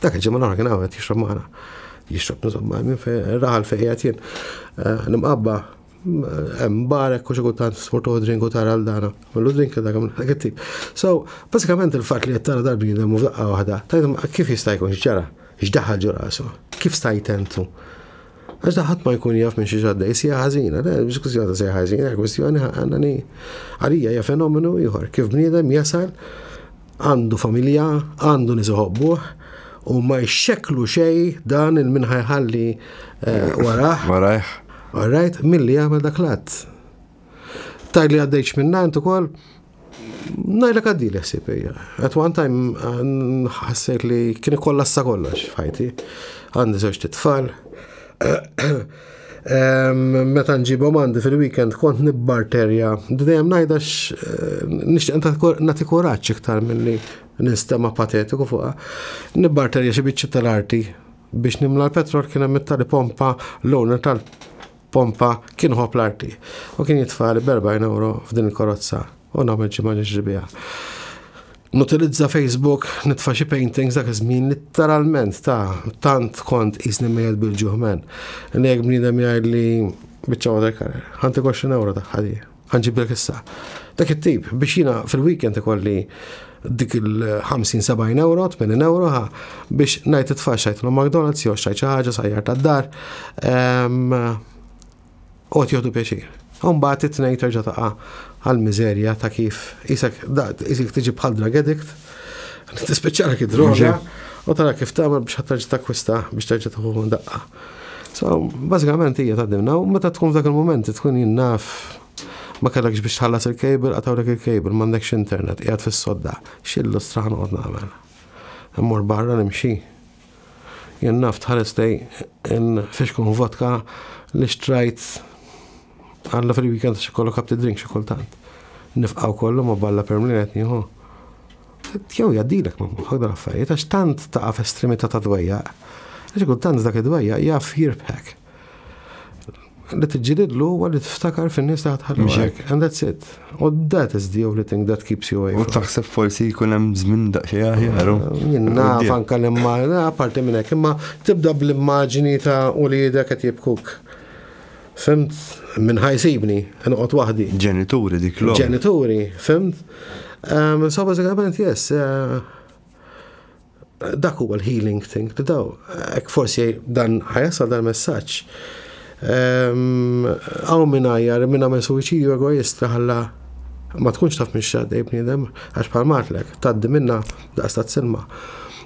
Dak il-ġimgħa l-oħra kien hawn jixrob magħna. Jixrob, insomma, minn fejn raħal fejn qiegħed jien. Eh, Nimqabba hemm barek u xi kultant sportu drink u tara l-dana. Mallu drink dak dak it-tip. So, basikament il-fatt li qed tara dal-bniedem u f'daqqa waħda, tgħidhom kif jista' jkun, x'ġara, x'daħal ġo rasu, kif stajt entu? Għax da ħadd ma jkun jaf minn xi ġaddej, sija ħażina, le, mhux kwistjoni ta' sija ħażina, kwistjoni għandani għalija hija fenomenu ieħor, kif bniedem jasal, għandu familja, għandu nies iħobbuh, u ma jxeklu xej dan il-min ħa jħalli eh, warah. Warajh. All right, milli jagħmel dak l-att. Taj li għaddejx minna int ukoll, ngħidlek għaddili ħsieb hija. At one time ħassejt li kien ikkollassa kollox f'ħajti. Għandi żewġ tfal. Meta nġibhom għandi fil-weekend kont nibbarterja. Dejjem ngħidax eh, nixtieq nagħti kuraġġ iktar milli nistema patetiku fuqha. Nibbarterja xi biċċi tal-arti biex nimla l-petrol. Kien hemm tali pompa, l-owner tal-pompa kien iħobb l-arti. U kien jitfali b'erbgħin euro f'din il-karozza u nagħmel ġimgħa nixri biha. Nutilizza Facebook, nitfa' xi paintings dak iż-żmien, literalment ta' tant kont qisni mejjet bil-ġuħ men. Li jekk bniedem jgħid li biċċa watercolor, ħa ntik għoxrin euro tagħha di, ħa nġiblek issa. Dak it-tip biex jiena fil-weekend ikolli dik il-ħamsin sebgħin euro, tmenin euro ħa biex ngħid itfa' xajt l McDonald's jew xajt xi ħaġa sajjar tad-dar. U qed jieħdu pjaċir. Mbagħad it-tnejn terġa' taqa' għal-miżerja ta' kif isek isek tiġi bħal drug addict, tispiċċalek id-droga u tara kif tagħmel biex terġa' takkwista biex terġa' tieħu daqqa. So, bażikament hija tgħaddimna u meta tkun f'dak il-moment tkun jinnaf Ma kellekx biex tħallas il-cable, qatgħulek il-cable, m'għandekx internet, qiegħed fis-sodda. X'il-lustra ħa noqgħod nagħmel? Immur barra nimxi. Jien naf tħares lejn flixkun vodka li xtrajt għalla fil-weekend xi kollu kapti drink xi kultant. Nifqaw kollu ma balla permlin qed nieħu. Jew jgħaddilek ma moħħok dal-affarijiet għax tant taqa' f'estremità ta' dwejjaq. Għax kultant dak id-dwejjaq jaf jirbħek. Li tiġġilidlu huwa li tiftakar fin-nies li ħatħallu. And that's it. U that is the only thing that keeps you away. U taħseb forsi jkun hemm żmien daqsxejn aħjar. Jien naf anke l-imma, apparti minn hekk, imma tibda bl-immaġini ta' uliedek qed jibkuk. Fhimt? Min ħa jsibni, noqgħod waħdi. Ġenituri dik l Ġenituri, fhimt? Um, so bażikament, yes, uh, dak huwa l-healing thing li daw. Ek forsi dan ħa jasal dan messaġġ. Għaw minn għajjar, minn għamel suwiċidju egoista ħalla ma tkunx taf minn x'għaddej bniedem, għax bħal matlek, taddi minna daqs ta' silma.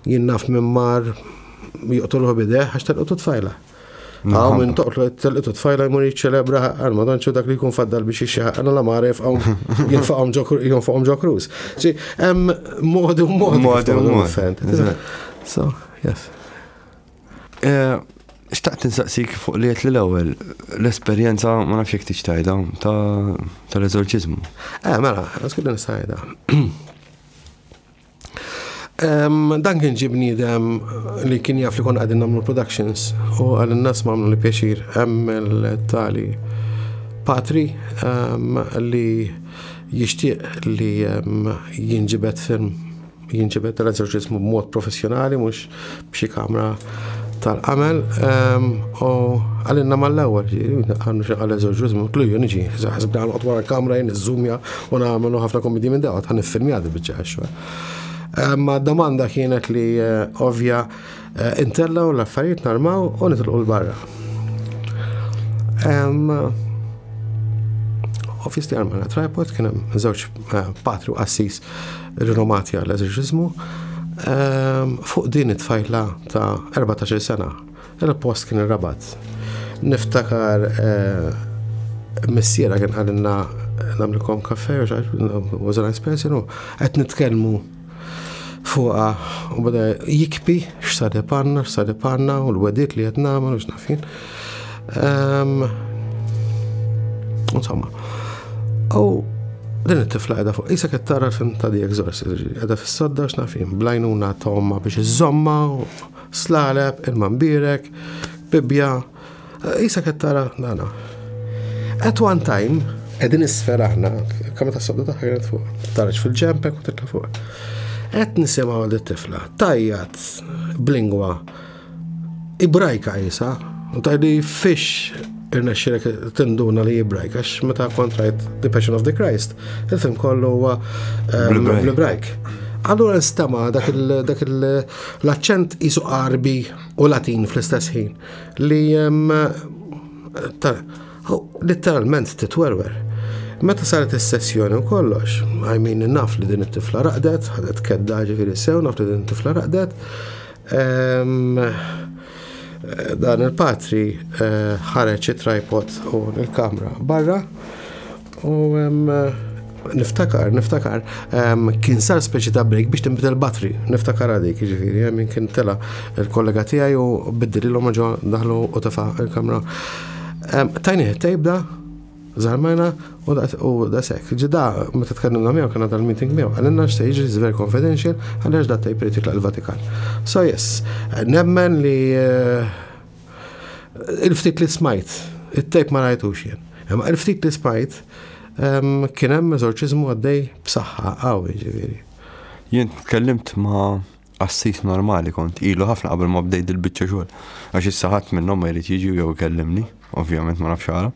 Jien naf minn mar joqtoluh b'idejh għax telqu tfajla. Għaw minn toqtlu telqu tfajla jmur jiċċelebra għal madonċu dak li jkun faddal biex jixxaħ għal la maref għaw jinfaqhom ġo cruise. Ġi, hemm modi u modi. Modi u modi. So, yes. Eh, xtaqt insaqsik fuq li għedt li l-ewwel, l-esperjenza ma nafx jekk tixtajda tal-eżorċiżmu. Eh, mela, għasku nistajda. Dan kien ġie bniedem li kien jaf li konna qegħdin nagħmlu productions u għal n-nas ma li pjaċir hemm il-tali patri li jixtieq li jinġibed film, jinġibed tal-eżorċiżmu b'mod professjonali, mhux b'xi kamra tal-qamel, u għalinna mal-ewwel, għannu xi għal eżorċiżmu, kluju niġi, ħsibna noqgħod wara l-kamra jien iżżumja u nagħmlu ħafna komedi minn dawt, ħa niffilmja di biċċa xogħol. Ma domanda kienet li ovvja intellaw l-affarijiet narmaw u nitilqu l-barra. Obviously armajna tripod, kien hemm żewġ patri u qassis rinomati għall-eżorċiżmu. Fuq din it-tfajla ta' erbatax-il sena, il-post kien ir-Rabat. Niftakar missiera kien qalilna nagħmlilkom kafè, was a nice person, u qed nitkellmu fuqa u beda jikbi x'sar ipanna, x'sar ipanna u l-wedit li qed nagħmel u x'naf jien. Insomma, u din it-tifla qiegħda fuq, qisha qed tara l-film ta' The Exorcist, qiegħda fis-sodda x'naf jien, blajnuna ta' omma biex iżomma, slaleb, ilma mbierek, bibja, qisha qed tara dana. At one time, qegħdin isfel aħna, kamra tas-sodda tagħha kienet fuq, taraġ fil-ġempek u titla' fuq. Qed nisimgħu għal it-tifla, tajjat b'lingwa Ibrajka qisha, u tgħidli fix irnexxielek tinduna li Ibrajk, għax meta kont rajt The Passion of the Christ, il-film kollu huwa bl-Ibrajk. Allura nstema' dak l-aċċent qisu Qarbi u Latin fl-istess ħin li letteralment titwerwer. Meta saret is-sessjoni u kollox, I mean, naf li din it-tifla raqdet, ħadet kedda ġifieri sew, naf li din it-tifla raqdet. Dan il-patri ħareġ it-tripod u l-kamra barra u niftakar, niftakar, kien sar speċi ta' break biex tinbidel battery, niftakar għadik, ġifieri, min kien tela il-kollega tiegħi u biddililhom ġo daħlu u tefa' il-kamra. Tajni tape da, żarmajna u da sekk. Ġida, meta tkellimna miegħu kien dal-meeting miegħu, għalinna x'se jiġri is very confidential, għaliex da tape irid jitlaq il-Vatikan. So yes, nemmen li il-ftit li smajt, it-tape ma rajtux jien. Imma il-ftit li smajt kien hemm eżorċiżmu għaddej b'saħħa qawwi ġifieri. Jien tkellimt ma' qassis normali kont ilu ħafna qabel ma bdejt il-biċċa xogħol. Għax issa ħadd minnhom ma jrid jiġi jew ikellimni, ovvjament ma nafx għala.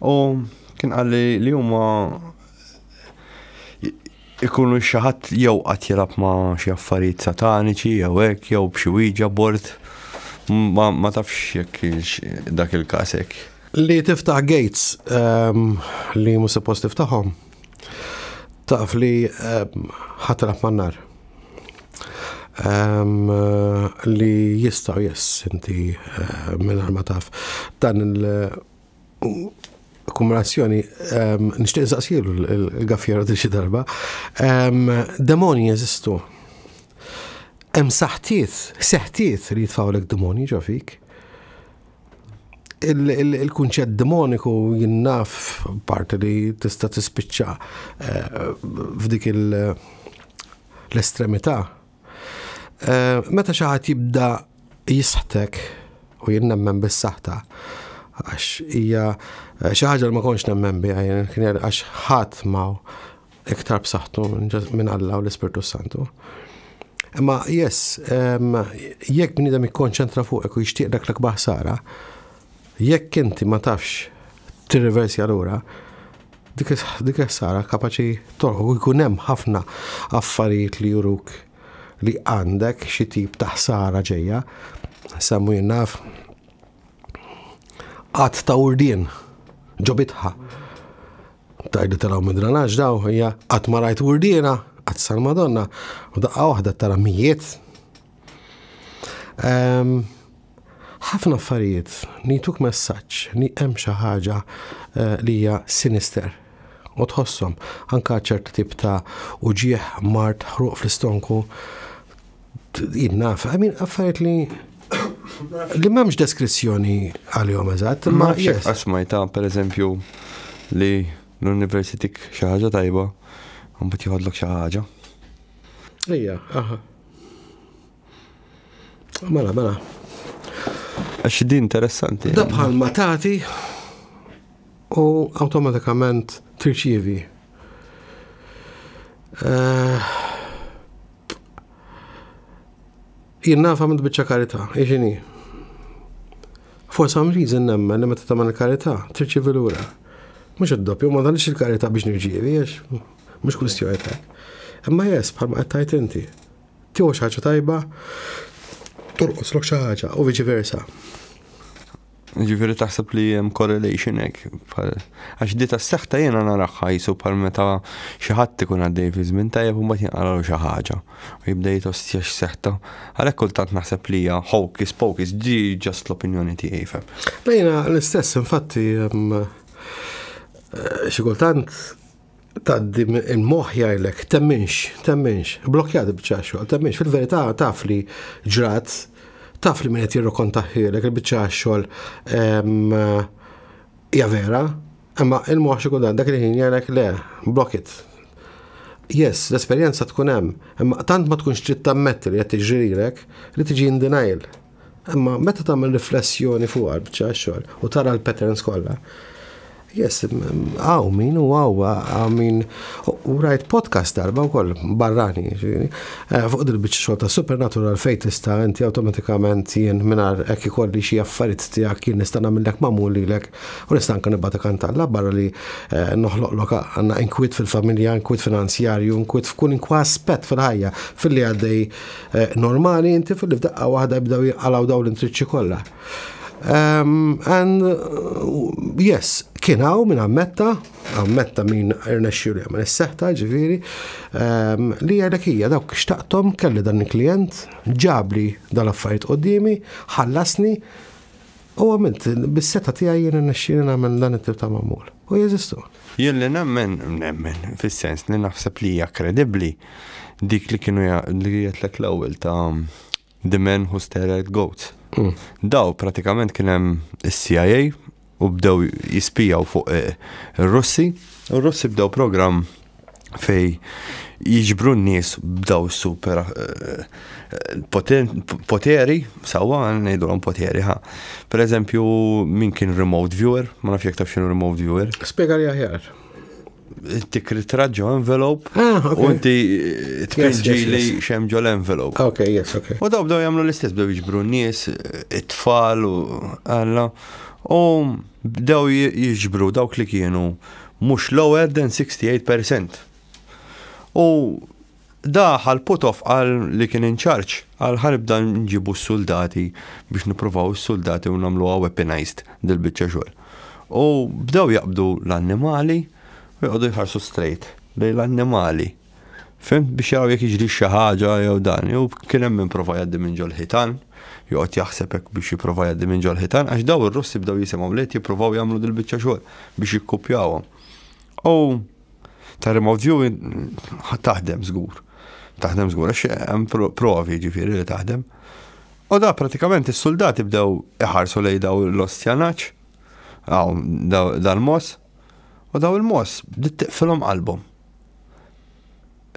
U kien qalli li huma ikunu xi ħadd jew qatt jilgħab ma' xi affarijiet sataniċi jew hekk jew b'xi Ouija board. Ma, ma tafx jekk dak il-każ hekk. Li tiftaħ gates li mhux suppost tiftaħhom, taf li ħa tilgħab man-nar. Li jistgħu, yes, inti mingħajr ma taf dan il- Akkumulazzjoni, nixtieq saqsilu l-Gaffiero xi darba. Demoni jeżistu. Hemm saħtiet, seħtiet li jitfgħulek demoni ġo fik. Il-kunċett demoniku jien naf parti li tista' tispiċċa eh, f'dik l-estremità. Eh, meta xi ħadd jibda jisħtek, u jien nemmen bis-saħta, għax hija eh, xi ħaġa li ma kontx nemmen biha, kien għax ħadd ma iktar b'saħħtu minn Alla u l-Ispirtu Santu. Imma yes, jekk bniedem ikkonċentra fuqek u jixtieq dak l-akbar ħsara, jekk inti ma tafx tirriversja lura, dik ħsara kapaċi torħu u jkun hemm ħafna affarijiet li juruk li għandek xi tip ta' ħsara ġejja. Semmu jien naf qatt ta' urdien ġo bitħa. Tajdu taraw mid-dranaġ daw, hija qatt ma rajt urdiena, qatt sal-Madonna, u daqqa waħda tara mijiet. Ħafna affarijiet nituk messaġġ li hemm xi ħaġa eh, li hija sinister u tħosshom anka ċertu tip ta' uġieħ, mard, ħruq fl-istonku, jien naf, I mean, affarijiet li li m'hemmx deskrizzjoni għalihom eżatt, imma yes. Asmajta, per eżempju, li l-univers itik xi ħaġa tajba, mbagħad jieħodlok xi ħaġa. Ejja, aha. Mela, mela. Għax din interessanti. Da bħal ma tagħti u awtomatikament tirċievi. Eh, jien naf għamilt biċċa karità, iġini. For some reason nemmen li meta tagħmel karità tirċievi lura. Mhux id-doppju, ma tagħmilx il-karità biex nirċievi, għax mhux kwistjoni ta' Imma yes, bħalma qed tgħid inti. Tieħu xi ħaġa tajba, torqoslok xi ħaġa u viċi versa. Ġifieri taħseb li hemm correlation hekk. Għax di tas-seħta jiena naraha jisu bħal meta xi ħadd ikun għaddej fi żmien tajjeb u mbagħad jinqaralu xi ħaġa. U jibda jitostja x'seħta. Għalhekk kultant naħseb li hija hocus pocus, di just l-opinjoni tiegħi fem. Lejna l-istess, infatti, xi kultant tgħaddi il-moħħ jgħidlek temminx, temminx, blokjat biċċa xogħol, temminx, fil-verità taf li ġrat, taf li min qed jirrokontaħħilek il-biċċa xogħol hija vera, imma il-moħħ xi kultant dak il-ħin jgħidlek le, block it. Yes, l-esperjenza tkun hemm, imma tant ma tkunx trid tammetti li qed tiġrilek li tiġi in denial. Imma meta tagħmel riflessjoni fuq il-biċċa xogħol u tara l-patterns kollha, yes, għaw min u għaw, għaw min, u rajt podcast darba u koll, barrani, ġifieri, fuq dil-biċċa xogħol ta' supernatural fejn tista' inti awtomatikament jien mingħajr hekk ikolli xi affarijiet tiegħek jien nista' nagħmellek magħmul lilek u nista' anke nibgħatek għand Alla barra li noħloqlok għandna inkwiet fil-familja, inkwiet finanzjarju, inkwiet f'kull inkwa aspett fil-ħajja, fil-li għaddej normali inti fil-li f'daqqa waħda jibdew jinqalgħu dawn l-intriċċi kollha. Um, and uh, yes, kien hawn min ammetta, ammetta min irnexxielu jagħmel is-seħta, ġifieri, um, li għalek hija dawk xtaqthom kelli dan il-klient, ġabli dal-affarijiet quddiemi, ħallasni u għamilt bis-seta tiegħi jien irnexxieli nagħmel dan it-tip ta' magħmul. U jeżistu. Jien li nemmen, nemmen, fis-sens li naħseb li hija kredibbli dik li kienu li jgħidlek l-ewwel ta' The Men Who Stare at Goats. Mm. Daw pratikament kien hemm is-C I A u bdew jispijaw fuq ir-Russi. U r-Russi bdew program fej jiġbru n-nies b'daw super poteri, sawa ngħidulhom poteri ħa. Per eżempju, min kien remote viewer, ma nafx jekk taf x'inhu remote viewer. Spjega li aħjar. Tik ritratt ġo envelope Ah, ok. u inti tpinġi Yes, yes, li yes. xem ġo l-envelope. Ok, yes, ok. U daw bdew jagħmlu l-istess, bdew jiġbru n-nies, it-tfal u għalla. U bdew jiġbru dawk li kienu mhux lower than sixty-eight percent. U daħal Putov għal li kien in charge, għal ħa nibda nġibu s-soldati biex nippruvaw s-soldati u nagħmluha weaponized dil-biċċa xogħol. U bdew jaqbdu l-annimali u jqogħdu jħarsu straight lejn l-annimali. Fhimt, biex jaraw jekk jiġri xi ħaġa jew dan. Jew kien hemm min prova jgħaddi minn ġol ħitan. Joqgħod jaħseb hekk biex jipprova jgħaddi minn ġol-ħitan, għax daw ir-Russi bdew jisimgħu li qed jippruvaw jagħmlu dil-biċċa xogħol biex jikkupjawhom. U ta' remote viewing taħdem żgur. Taħdem żgur, għax hemm provi, ġifieri, li taħdem. U da pratikament is-soldati bdew iħarsu lej daw l-ostja nagħaġ, dal-mos, u daw il-mos bdiet tiqfilhom qalbhom.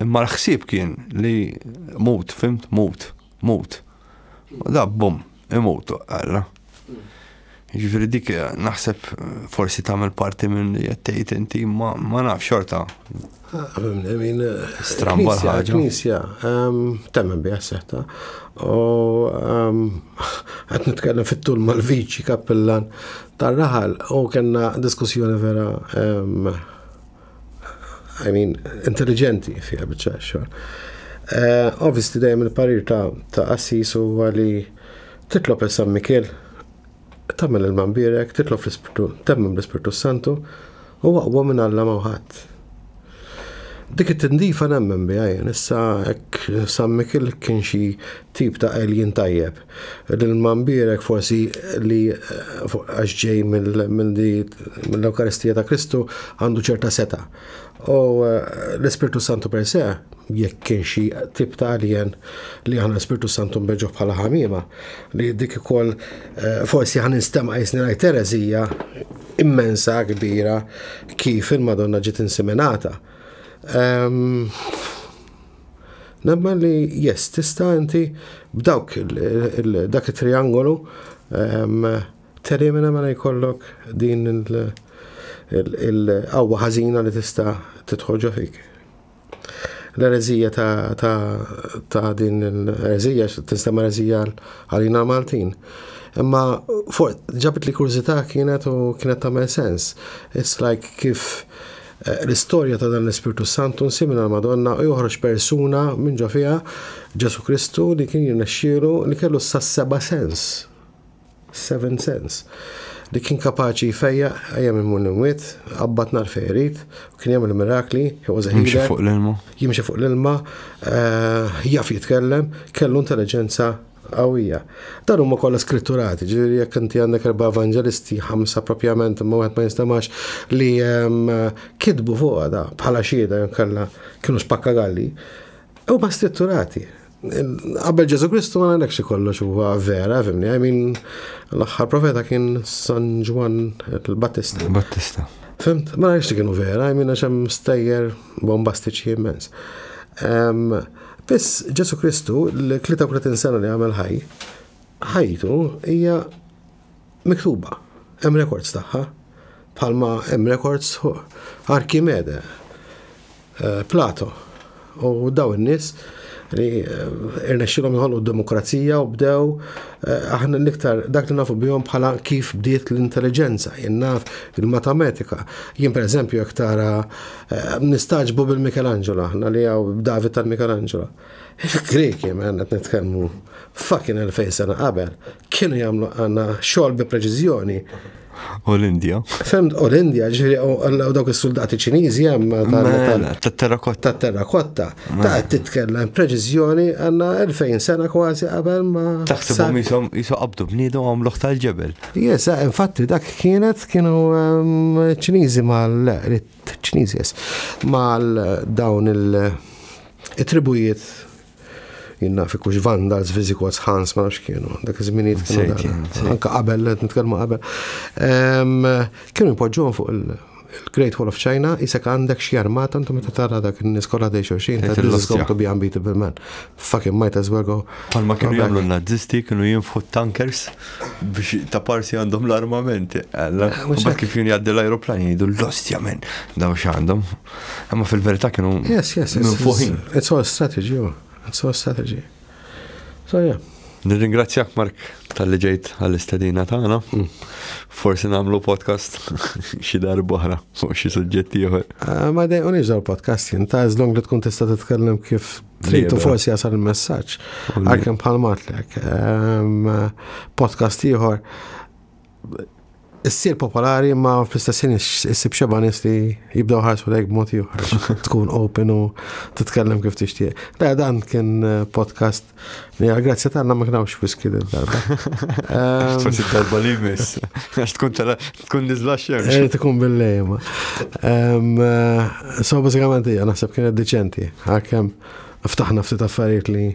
Imma l-ħsieb kien li mut, fhimt, mut, mut. U da bum, imutu, għalla. Ġifieri dik naħseb forsi tagħmel parti minn li qed inti, ma ma naf xorta. Stramba l-ħaġa. Knisja, temmen biha setta. U qed nitkellem fit-tul mal-viċi kappillan tar-raħal u kellna diskussjoni vera, I mean, intelligenti fiha biċċa xogħol. Eh, obviously dejjem il-parir ta' qassis huwa li titlob il-San Mikiel, tagħmel il-mambirek, titlob fl-Ispirtu, temmen bl-Ispirtu Santu, u aqwa minn Alla ma ħadd. Dik it-tindifa nemmen biha jien, issa hekk San Mikiel kien xi tip ta' alien tajjeb. Il-mambirek forsi li eh, għax ġej mill-Ewkaristija ta' Kristu għandu ċerta seta. U eh, l-Ispirtu Santu per se, jekk kien xi tip ta' alien li aħna l-Ispirtu Santu nbeġġu bħala ħamima, li dik ukoll eh, forsi ħa ninstema' qisni ngħid erezija immensa kbira kif il-Madonna ġiet inseminata. Um, Nemmen li yes, tista' inti b'dawk dak it-triangolu um, telimina mela jkollok din il-qawwa ħażina li tista' tidħol ġo fik. L-erezija ta', ta, ta' din l-erezija, tinstema' erezija għalina Maltin. Imma fuq ġabit li kurżità kienet u kienet tagħmel sens. It's like kif eh, l-istorja ta' dan l-Ispirtu Santu nsimina l-Madonna u joħroġ persuna minn ġo fiha, Ġesu Kristu, li kien jirnexxielu li kellu sa seba' sens. Seven sense. Li kien kapaċi jfejjaq ejja minn mun imwiet, qabbat nar fejrit, u kien jagħmel mirakli, he was a Jimxi healer. fuq l-ilma. Jimxi fuq l-ilma, eh, jaf jitkellem, kellu intelligenza qawwija. Dan huma kollha skritturati, ġifieri jekk inti għandek erba' evangelisti, ħamsa propjament, imma wieħed ma jinstemax, li em, kitbu fuqha da bħala xhieda jew kellha kienu spakkagalli, huma skritturati. Qabel Ġesu Kristu ma ngħidlekx kollox huwa vera, fhimni, I mean, l-aħħar profeta kien San Ġwann il-Battista. Battista. Fhimt, ma nafx li kienu vera, I mean, għax hemm stejjer bombastiċi immens. Um, Biss Ġesu Kristu, l-tlieta u tletin sena li għamel ħaj, ħajtu hija miktuba. Hemm records tagħha, bħalma hemm records fuq Arkimede, eh, Plato, u daw in-nies li eh, irnexxilhom jħolqu d-demokrazija u bdew eh, aħna l-iktar dak li nafu bihom bħala kif bdiet l-intelligenza, jien naf il-matematika. Jien, per eżempju, jekk tara eh, nistagħġbu bil-Michelangelo aħna li hawn David tal-Michelangelo. Il-Greki, man, qed nitkellmu fucking elfejn sena qabel, kienu jagħmlu għandna xogħol bi preċiżjoni. U l-Indja. Fhimt, u l-Indja, ġifieri, u dawk is-soldati Ċiniżi hemm Mela, tat-terrakotta. Ta' terrakotta. Ta' qed titkellem preċiżjoni għandna elfejn sena kważi qabel ma. Taħsibhom jisom jisom qabdu bniedem għamluh tal-ġebel. Yes, eh, infatti dak kienet kienu um, Ċiniżi mal Ċiniżi, yes, mal dawn il-tribujiet, jien naf ikux Vandals, Visigoths, Huns, ma nafx kienu, dak iż-żminijiet kienu Sejt dan. jien, sejt. Anka qabel, qed nitkellmu qabel. Em, Kienu jpoġġuhom fuq il- il-Great Wall of China, isek għandek xi armata, intu meta tara dak in-nies kollha dej xulxin, Tgħid this is il-lostja. going to be unbeatable, man. Fucking might as well go. Palma kienu go back. jagħmlu n-nazisti, kienu jinfħu tankers biex ta' parsi għandhom l-armamenti. Alla, mhux u bat kif jien jgħaddi l-aeroplan jgħidu, "L-ostja, men, daw x'għandhom." Imma fil-verità kienu Yes, yes, it's, minfuħin. it's, it's all strategy, oh. It's all strategy. So yeah. Nirringrazzjak, Mark, talli ġejt għall-istedina tagħna. Mm. Forsi nagħmlu podcast xi darba oħra fuq xi suġġetti ieħor. Uh, ma dejqunix daw podcast jien, ta' as long li tkun tista' titkellem kif trid u Libera. forsi jasal il-messaġġ. U li- Għalkemm bħal matlek. Um, podcast ieħor Issir popolari, ma fl-istess ħin issib xeba nies li jibdew ħarsu lejk b'mod ieħor. Tkun open u titkellem kif tixtieq. Le, dan kien eh, podcast li għal grazzja tagħna ma kienx whisky darba. Forsi darba li jmiss. Għax tkun tela tkun niżla xemx. Eh, tkun bil-lejma. So, bażikament hija naħseb kienet diċenti. Għalkemm ftaħna ftit affarijiet li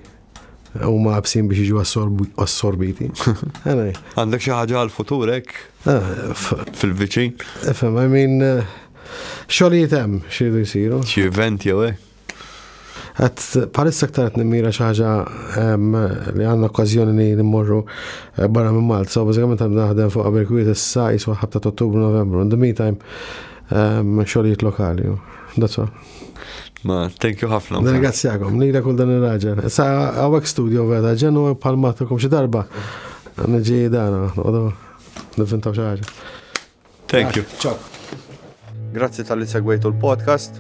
huma absin biex jiġu assorbiti. Anyway. Għandek xi ħaġa għal-futur hekk Ah, f- fil-viċin? Ifhem, I mean, eh, xogħlijiet hemm x'iridu jsiru. Xi event jew hekk? Għat palissa aktar qed nimmira xi ħaġa em, li għandna okkażjoni li nimmorru eh, barra minn Malta. So bażikament għam naħdem fuq qabel kwiet issa jiswa ħabta ta' Ottubru, Novembru. In the meantime, em, xogħlijiet lokali. That's all. Ma, thank you ħafna. Nirringrazzjakom, lila kull dan ir-raġel. Issa hawnhekk studio vera, ġenu palmatukom xi darba. Niġi dana, noqogħdu nivvintaw xi ħaġa. Thank you. Ciao. Grazzi talli segwejtu l-podcast.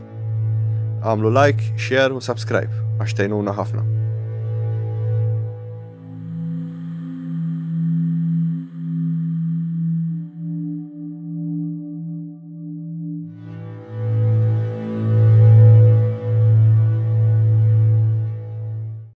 Għamlu like, share u subscribe għax tgħinuna ħafna.